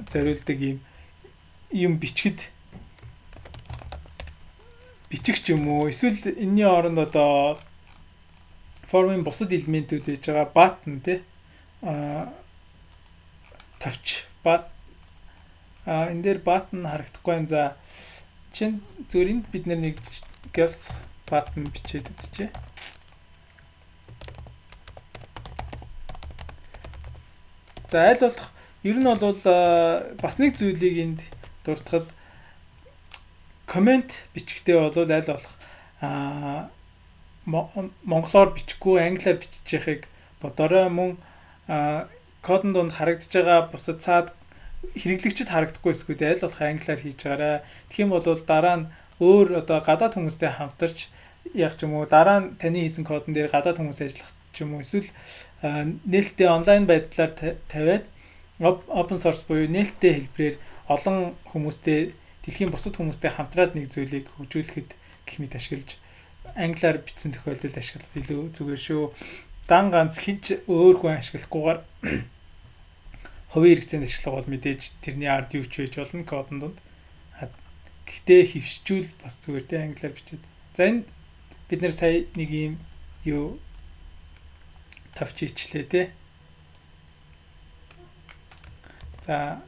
зориулдаг юм юм бичгэд бичих ч юм уу эсвэл энэний оронд одоо формын бусад элементүүд байж байгаа button тий тавч бат а энэ дээр button харагдахгүй юм. За чинь зүгээр энд бид нэг guess button бичээд үзчихье. За аль болох ер нь бол бас нэг зүйлийг энд дуртахад коммент бичгтээ бол аль болох а монголоор бичихгүй англиар бичиж яхахыг бодорой. Мөн кодон донд харагдаж байгаа бусад цаад хэрэглэгчд харагдахгүй эсвэл аль болох англиар хийж байгаарай. Тэгэх юм бол дараа нь өөр одоо гадаад хүмүүстэй хамтарч яг ч юм уу дараа нь таны хийсэн кодон дээр гадаад хүмүүс ажиллах ч юм уу эсвэл нээлттэй онлайн байдлаар тавиад open source буюу нээлттэй хэлбэрээр олон хүмүүстэй дэлхийн бусад хүмүүстэй хамтраад нэг зүйлийг хөгжүүлэхэд гэх мэт ашиглаж англиар бичсэн тохиолдолд ашиглах илүү зүгээр шүү. Дан ганц хинч өөр хүн ашиглахгүйгээр хувийн хэрэгцээнд ашиглах бол мэдээж тэрний ард юу ч байж болно кодон донд. Гэхдээ хөвшчүүл бас зүгээр тэ англиар бичээд. За энэ бид нэр сая нэг юм юу тавч ичлээ тэ. За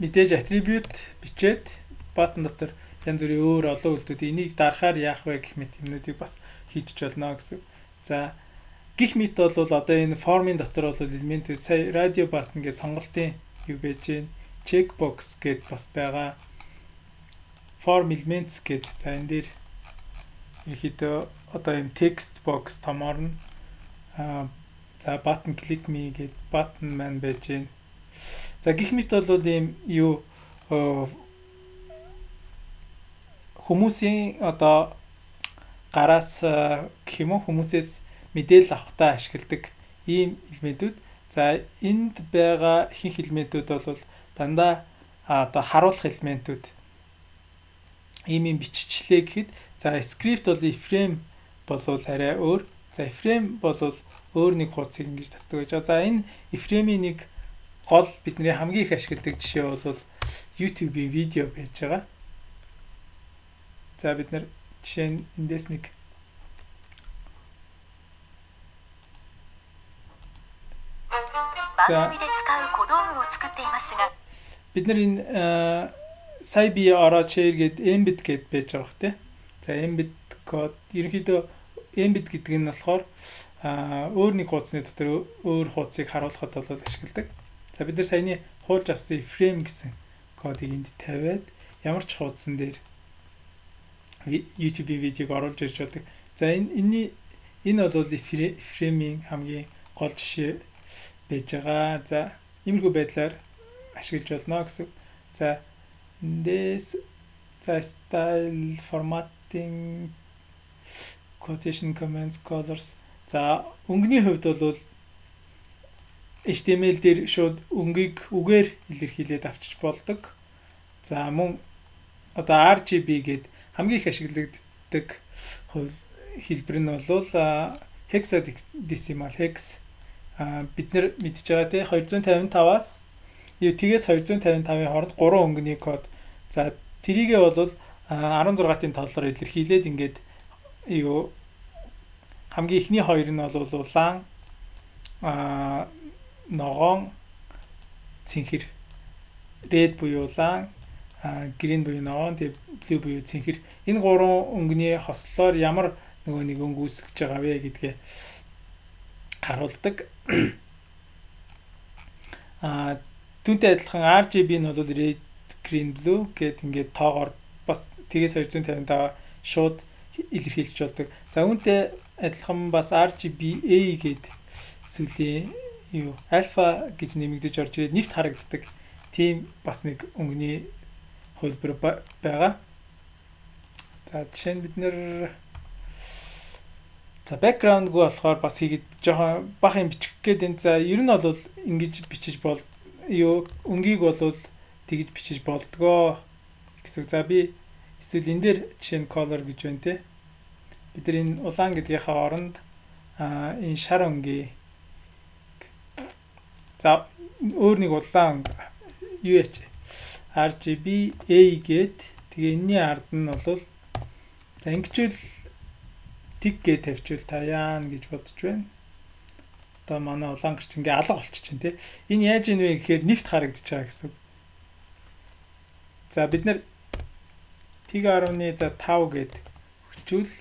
мэдээж attribute бичээд button дотор янз бүрийн өөр олон үйлдэлүүд энийг дарахаар яах вэ гэх мэт юмнуудыг бас хийж болно гэсэн. За гих мэт бол одоо энэ формын дотор бол элементүүд сая радио баттон гэж сонголтын юу байж гэн checkbox гэд бас байгаа. Form elements гэд за энэ дээр ерөөхдөө одоо юм text box томоор нь а за button click me гэд button маань байж гэн. За гих мэт бол ийм юу хүмүүсийн одоо гараас гэх юм уу хүмүүсээс мэдээлэл авахтаа ашигладаг ийм элементүүд. За энд байгаа ихэнх элементүүд бол дандаа одоо харуулах элементүүд. Ийм юм биччихлээ гэхэд за script бол iframe болвол арай өөр. За iframe болвол өөр нэг хуудсыг ингэж татдаг гэж. За энэ iframe-ийн нэг гол бидний хамгийн их ашигладаг жишээ бол YouTube-ийн видео байж байгаа. За бид нар жишээ нь эндээс нэг За бид нар энэ сая би ороод share гээд embed гэд байж байгаа бох тий. За embed код ерөнхийдөө embed гэдэг нь болохоор өөр нэг хуудасны дотор өөр хуудсыг харуулахад бол ашигладаг. За бид нар саяны хуулж авсан iframe гэсэн кодыг энд тавиад ямар ч хуудсан дээр YouTube-ийн видеог оруулж ирж болдог. За энэ энэний энэ бол iframe-ийн хамгийн гол жишээ байж байгаа. За иймэрхүү байдлаар ашиглаж болно гэсэн. За эндээс за style formatting quotation comments colors за өнгөний хувьд бол эйч ти эм эл дээр шууд өнгийг үгээр илэрхийлээд авчиж болдог. За мөн одоо ар джи би гээд хамгийн их ашиглагддаг хэлбэр нь бол hexadecimal hex бид нар мэдж байгаа те двести пятьдесят пять-аас юу тгээс двести пятьдесят пятын хооронд гурван өнгөний код. За тэрийгээ бол дөрвөн толлоор илэрхийлээд ингээд юу хамгийн ихний хоёр нь бол улаан а ногоон цэнхэр red буюу улаан green буюу ногоон тэг blue буюу цэнхэр энэ гурван өнгөний хослолоор ямар нөгөө нэг өнгө үүсгэж байгаа вэ гэдгээ харуулдаг. А түүнтэй адилхан ар джи би нь бол red green blue гэд ингээд тоогоор бас тгээс двести пятьдесят пять шууд илэрхийлж болдог. За үүнтэй адилхан бас ар джи би эй гэд сүлийн юу альфа гэж нэмэгдэж орж ирээд нефт харагддаг. Тийм бас нэг өнгөний хөлбөр байгаа. За жишээ нь бид нэр за background-г болохоор бас хийгээд жоохон бах юм бичих гээд энэ за ер нь бол ингэж бичиж бол юу өнгийг бол тэгж бичиж болдгоо гэсэн. За би эсвэл энэ дээр жишээ нь color гэж байна те. Бид нар энэ улаан гэдгийнхаа оронд а энэ шар өнгийн за өөр нэг улаан юу яач ар джи би эй гээд тэгээ энэний ард нь бол за ингэчүүл тиг гэж тавьчвал таяан гэж бодож байна. Одоо манай улаан гарч ингээ алга болчих чинь тий. Энэ яаж ийн вэ гэхээр нефт харагдаж байгаа гэсэн. За бид нар тэг арваны за тав гээд хүчүүл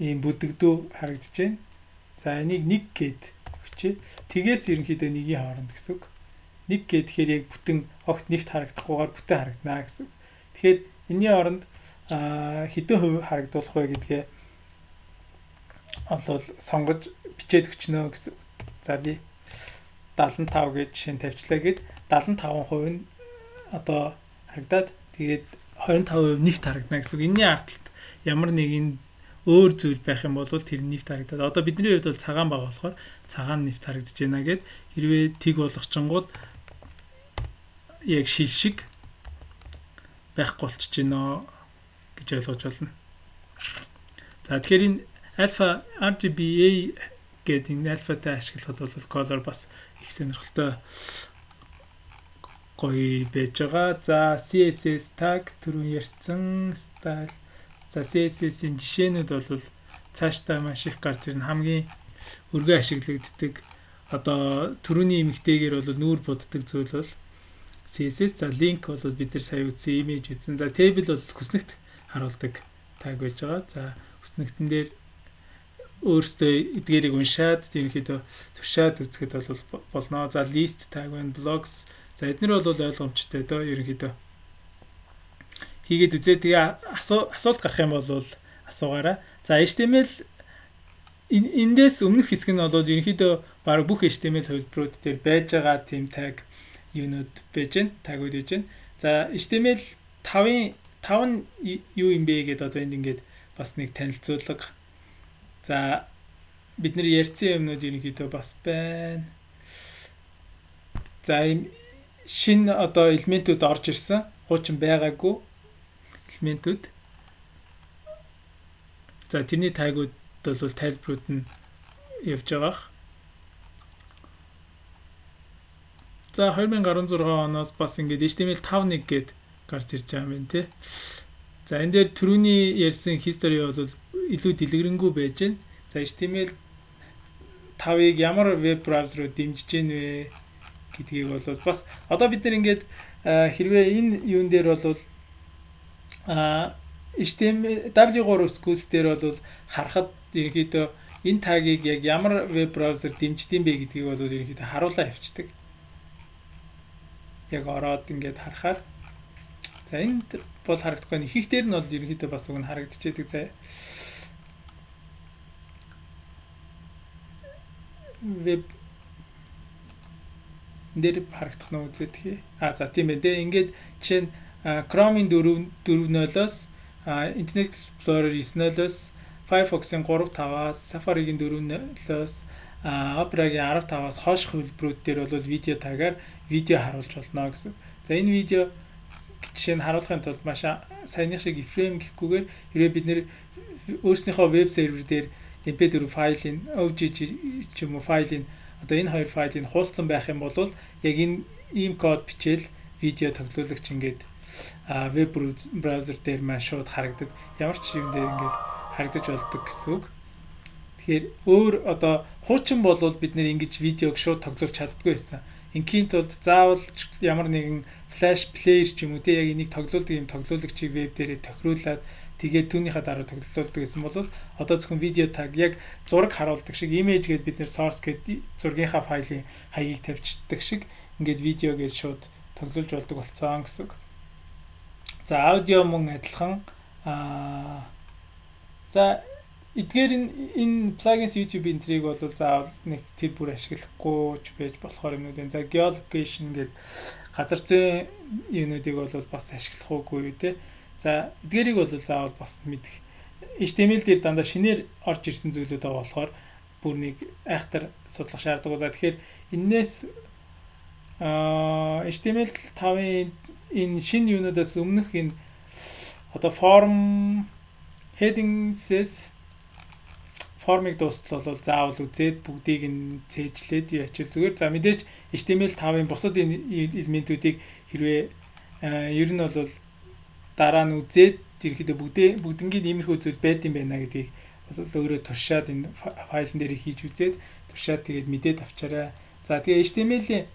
ийм бүдэгдүү харагдаж байна. За энийг нэг гээд хүчээ. Тгээс ерөнхийдөө нэгийн хооронд гэсэн. Нэг гэхээр яг бүтэн огт нефт харагдахгүйгээр бүтэн харагдана гэсэн. Тэгэхээр энэний оронд хэдэн хувь харагдуулах вэ гэдгээ олол сонгож бичээд өчнө гэсэн. За би дагалан тав гэж жишээ нь тавьчлаа гэд дагалан таван хувь нь одоо харагдаад тэгээд двадцать пять хувь нефт харагдана гэсэн. Энэний ард талд ямар нэгэн өөр зүйл байх юм бол тэр нефт харагдаад. Одоо бидний хувьд бол цагаан байгаа болохоор цагаан нефт харагдаж байна гэд хэрвээ тиг болгочингууд яг шил шиг байхгүй болчихж байна гэж ойлгож байна. За тэгэхээр энэ альфа ар джи би эй гэдэг энэ альфатай ашиглахад бол color бас их сонирхолтой гоё байж байгаа. За си эс эс tag түрүүн ярьсан style. За си эс эс-ийн жишээнүүд бол цаашдаа маш их гарч ирнэ. Хамгийн өргөө ашиглагддаг одоо түрүүний эмэгтэйгээр бол нүүр буддаг зүйл бол си эс эс. За link бол бид нар сая үзсэн image үзсэн. За table бол хүснэгт харуулдаг tag байж байгаа. За хүснэгтэн дээр өөрөөсөө эдгээрийг уншаад ерөнхийдөө туршаад үзэхэд бол болно. За list tag байна, blogs. За эднэр бол ойлгомжтой доо ерөнхийдөө хийгээд үзээ. Тэгээ асуулт гарах юм бол асуугаарай. За эйч ти эм эл эндээс өмнөх хэсэг нь бол ерөнхийдөө баг бүх эйч ти эм эл хувилбарууд дээр байж байгаа тийм tag юунууд байж гэн, tag-ууд байж гэн. За эйч ти эм эл five-ын five нь юу юм бэ гэдээ одоо энд ингээд бас нэг танилцуулга. За бид нар ярьсан юмнууд ерөнхийдөө бас байна. За ийм шинэ одоо элементүүд орж ирсэн. Хуучин байгаагүй элементүүд. За тэрний тагууд бол тайлбарууд нь явж байгаа. За two thousand sixteen оноос бас ингээд эйч ти эм эл five one гээд гарч ирж байгаа юм тий. За энэ дээр түрүүний ярьсан history бол илүү дэлгэрэнгүй байж байна. За эйч ти эм эл five-ыг ямар веб браузерууд дэмжиж гин вэ гэдгийг бол бас одоо бид нар ингээд хэрвээ энэ юун дээр бол а эйч ти эм эл дабл ю three schools дээр бол харахад ерөнхийдөө энэ тагийг яг ямар веб браузер дэмждэм бэ гэдгийг бол ерөнхийдөө харуулаа явчихдаг. Яг ороод ингээд харахаар за энд бол харагдахгүй. Их их дээр нь бол ерөнхийдөө бас уг нь харагдчихэдэг. За веб дээр харагдах нь үзээд хий. А за тийм ээ. Тэгээ ингээд жишээ нь Chrome-ийн four four-ноос Internet Explorer nine-ноос Firefox-ийн three five-аас Safari-гийн four-ноос Opera-гийн fifteen-аас хойш хувилбарууд дээр бол видео тагаар видео харуулж болно гэсэн. За энэ видео жишээ нь харуулахын тулд маш саяны шиг iframe гэхгүйгээр хэрвээ бид нэр өөрснийхөө веб сервер дээр эм пи four файлын о джи джи ч юм уу файлын одоо энэ хоёр файлыг хуулцсан байх юм бол яг энэ ийм код бичээл видео тоглоулагч ингээд веб браузер дээр маш шууд харагддаг. Ямар ч юм дээр ингээд харагдаж болдог гэсэн үг. Тэгэхээр өөр одоо хуучин бол бид нэр ингэж видеог шууд тоглуулж чаддгүй байсан. Инхийн тулд заавал ямар нэгэн флаш плеер ч юм уу те яг энийг тоглуулдаг юм тоглуулагчийг веб дээрээ тохируулад тэгээд түүнийхээ дараа тоглуулдаг гэсэн бол одоо зөвхөн видео таг яг зураг харуулдаг шиг image гээд бид нэр source гээд зургийнхаа файлын хаягийг тавьчихдаг шиг ингээд видео гээд шууд тоглуулж болдог болцсон гэсэн үг. За аудио мөн адилхан аа за эдгээр энэ plugins YouTube энтрийг бол заавал нэг тэр бүр ашиглахгүй ч байж болохоор юмнууд энэ. За geolocation гээд газар зүйн юмнуудыг бол бас ашиглах уугүй те. За эдгээрийг бол заавал бас мэдэх. эйч ти эм эл дээр дандаа шинээр орж ирсэн зүйлүүд байгаа болохоор бүр нэг айхтар судлах шаардлагагүй. За тэгэхээр энээс аа эйч ти эм эл five-ын энэ шинэ юунуудаас өмнөх энэ одоо form headings формыг дуустал бол заавал үзээд бүгдийг нь цээжлээд ячил зүгээр. За мэдээж эйч ти эм эл five-ын бусад элементүүдийг хэрвээ ер нь бол дараа нь үзээд ерөөдөө бүгдээ бүгднгийн иймэрхүү зүйл байд юм байна гэдгийг бол өөрөө туршаад энэ файлн дээр хийж үзээд туршаад тэгээд мэдээд авчаарай. За тэгээ эйч ти эм эл-ийн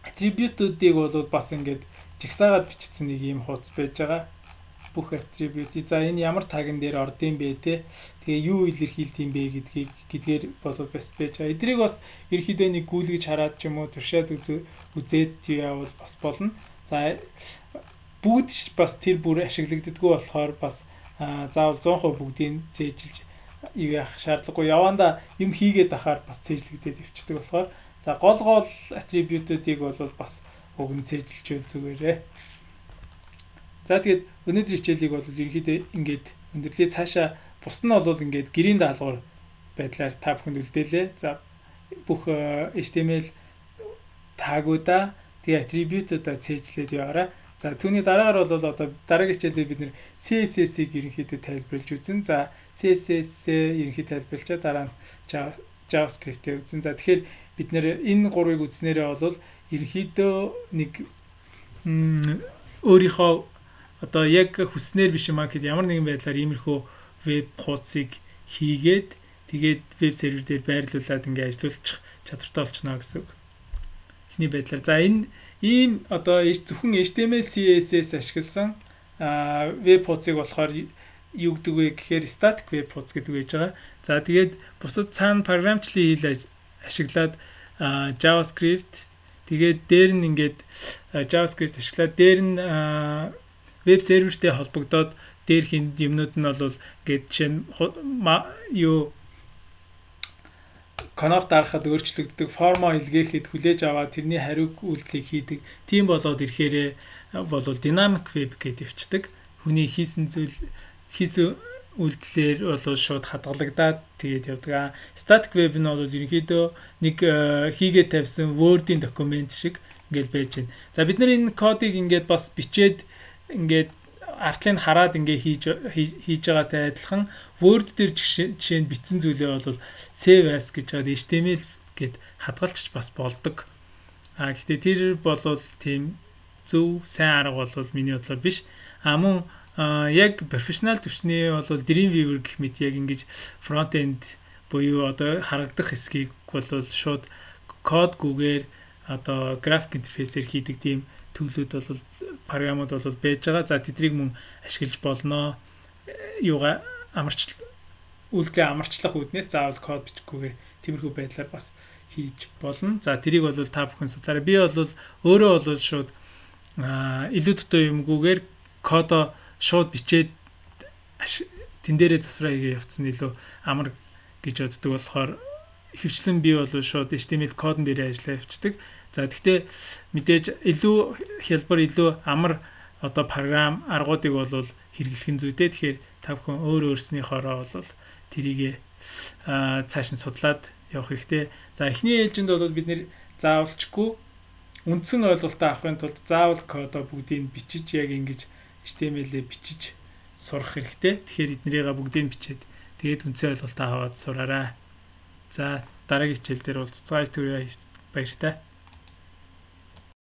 атрибутуудыг бол бас ингээд жагсаагаад бичсэн нэг юм хуудас байж байгаа. Бүх атрибут. За энэ ямар тагн дээр ордсон бэ те. Тэгээ юу илэрхийлд юм бэ гэдгийг гэдгээр бол бас байж байгаа. Эдрийг бас ерөөдөө нэг гүйлгэж хараад ч юм уу туршаад үзээд явал бас болно. За бүгд бас тэр бүр ашиглагддаггүй болохоор бас заавал one hundred percent бүгдийг цээжилж юу яах шаардлагагүй. Яванда юм хийгээд ахаар бас цээжлэгдээд өвчдөг болохоор за гол гол атрибутуудыг бол бас уг нь цээжилжүүл зүгээрээ. За тэгээд өнөөдрийн хичээлийг бол ерөнхийдөө ингээд өндөрлөө цаашаа бус нь бол ингээд гэрийн даалгавар байдлаар та бүхэнд үлдээлээ. За бүх эйч ти эм эл тагуудаа тэгээ атрибутуудаа цээжлээд яваарай. За түүний дараагаар бол одоо дараагийн хичээлдээ бид нэр си эс эс-ийг ерөнхийдөө тайлбарлаж үзэн. За си эс эс-ээ ерөнхийдөө тайлбарлачаа дараа нь JavaScript-ийг үзэн. За тэгэхээр бид нэр энэ гурвыг үзснээрээ бол ерөнхийдөө нэг өөрийнхөө одоо яг хүснээр биш юм аа гэхэд ямар нэгэн байдлаар иймэрхүү веб хуудсыг хийгээд тэгээд веб сервер дээр байрлуулад ингээ ажиллуулчих чадвартай болчихно гэсэн үг. Эхний байдлаар. За энэ ийм одоо зөвхөн эйч ти эм эл си эс эс ашигласан веб хуудсыг болохоор юу гэдэг вэ гэхээр static web хуудас гэдэг байж байгаа. За тэгээд бусад цаана програмчлалын хэл ашиглаад JavaScript тэгээд дээр нь ингээд JavaScript ашиглаад дээр нь веб сервертэй холбогдоод дээрх юмнууд нь бол ингээд жишээ нь юу коннект дарахад өөрчлөгддөг, формо илгээхэд хүлээж аваад тэрний хариуг үйлдэлийг хийдэг. Тийм болоод ирэхээр бол dynamic web гэж өвчдөг. Хүний хийсэн зүйл хийсэн үйлдэлээр бол шууд хадгалагдаад тэгээд явдаг. Static web нь бол ерөнхийдөө нэг хийгээд тавьсан Word-ийн документ шиг ингээл байж байна. За бид нар энэ кодыг ингээд бас бичээд ингээд артлыг хараад ингээ хийж хийж байгаатай адилхан Word дээр жишээ нь бичсэн зүйлээ бол save as гэж хаад эйч ти эм эл гэд хадгалчих бас болдог. А гэхдээ тэр бол тийм зөв сайн арга бол миний бодлоор биш. А мөн яг профессионал төвчний бол Dreamweaver гэх мэт яг ингэж front end буюу одоо харагдах хэсгийг бол шууд кодгүйгээр одоо график интерфейсээр хийдэг тийм төлөвлөд бол програмууд бол байж байгаа. За тэднийг мөн ашиглаж болно. Юугаа амарч үйлдэлээ амарчлах үүднээс заавал код бичихгүйгээр тиймэрхүү байдлаар бас хийж болно. За тэрийг бол та бүхэн судлаарай. Би бол өөрөө бол шууд илүү дутуу юмгүйгээр кодо шууд бичээд тэн дээрээ засвараа хийгээ явцсан илүү амар гэж боддог болохоор хөвчлэн би бол шууд эйч ти эм эл кодон дээрээ ажиллаа явцдаг. За гэхдээ мэдээж илүү хялбар илүү амар одоо програм аргуудыг бол хэрэглэх нь зүйтэй. Тэгэхээр та бүхэн өөр өөрснийхоороо бол тэрийг цааш нь судлаад явах хэрэгтэй. За эхний ээлжинд бол бид нэр заавалчгүй үндсэн ойлголтоо авахын тулд заавал кодоо бүгдийг бичиж яг ингэж эйч ти эм эл-ээ бичиж сурах хэрэгтэй. Тэгэхээр эднэрийг бүгдийг бичээд тэгээд үндсэн ойлголтоо аваад сураарай. За дараагийн хичээл дээр уулзцгаая. Баяртай.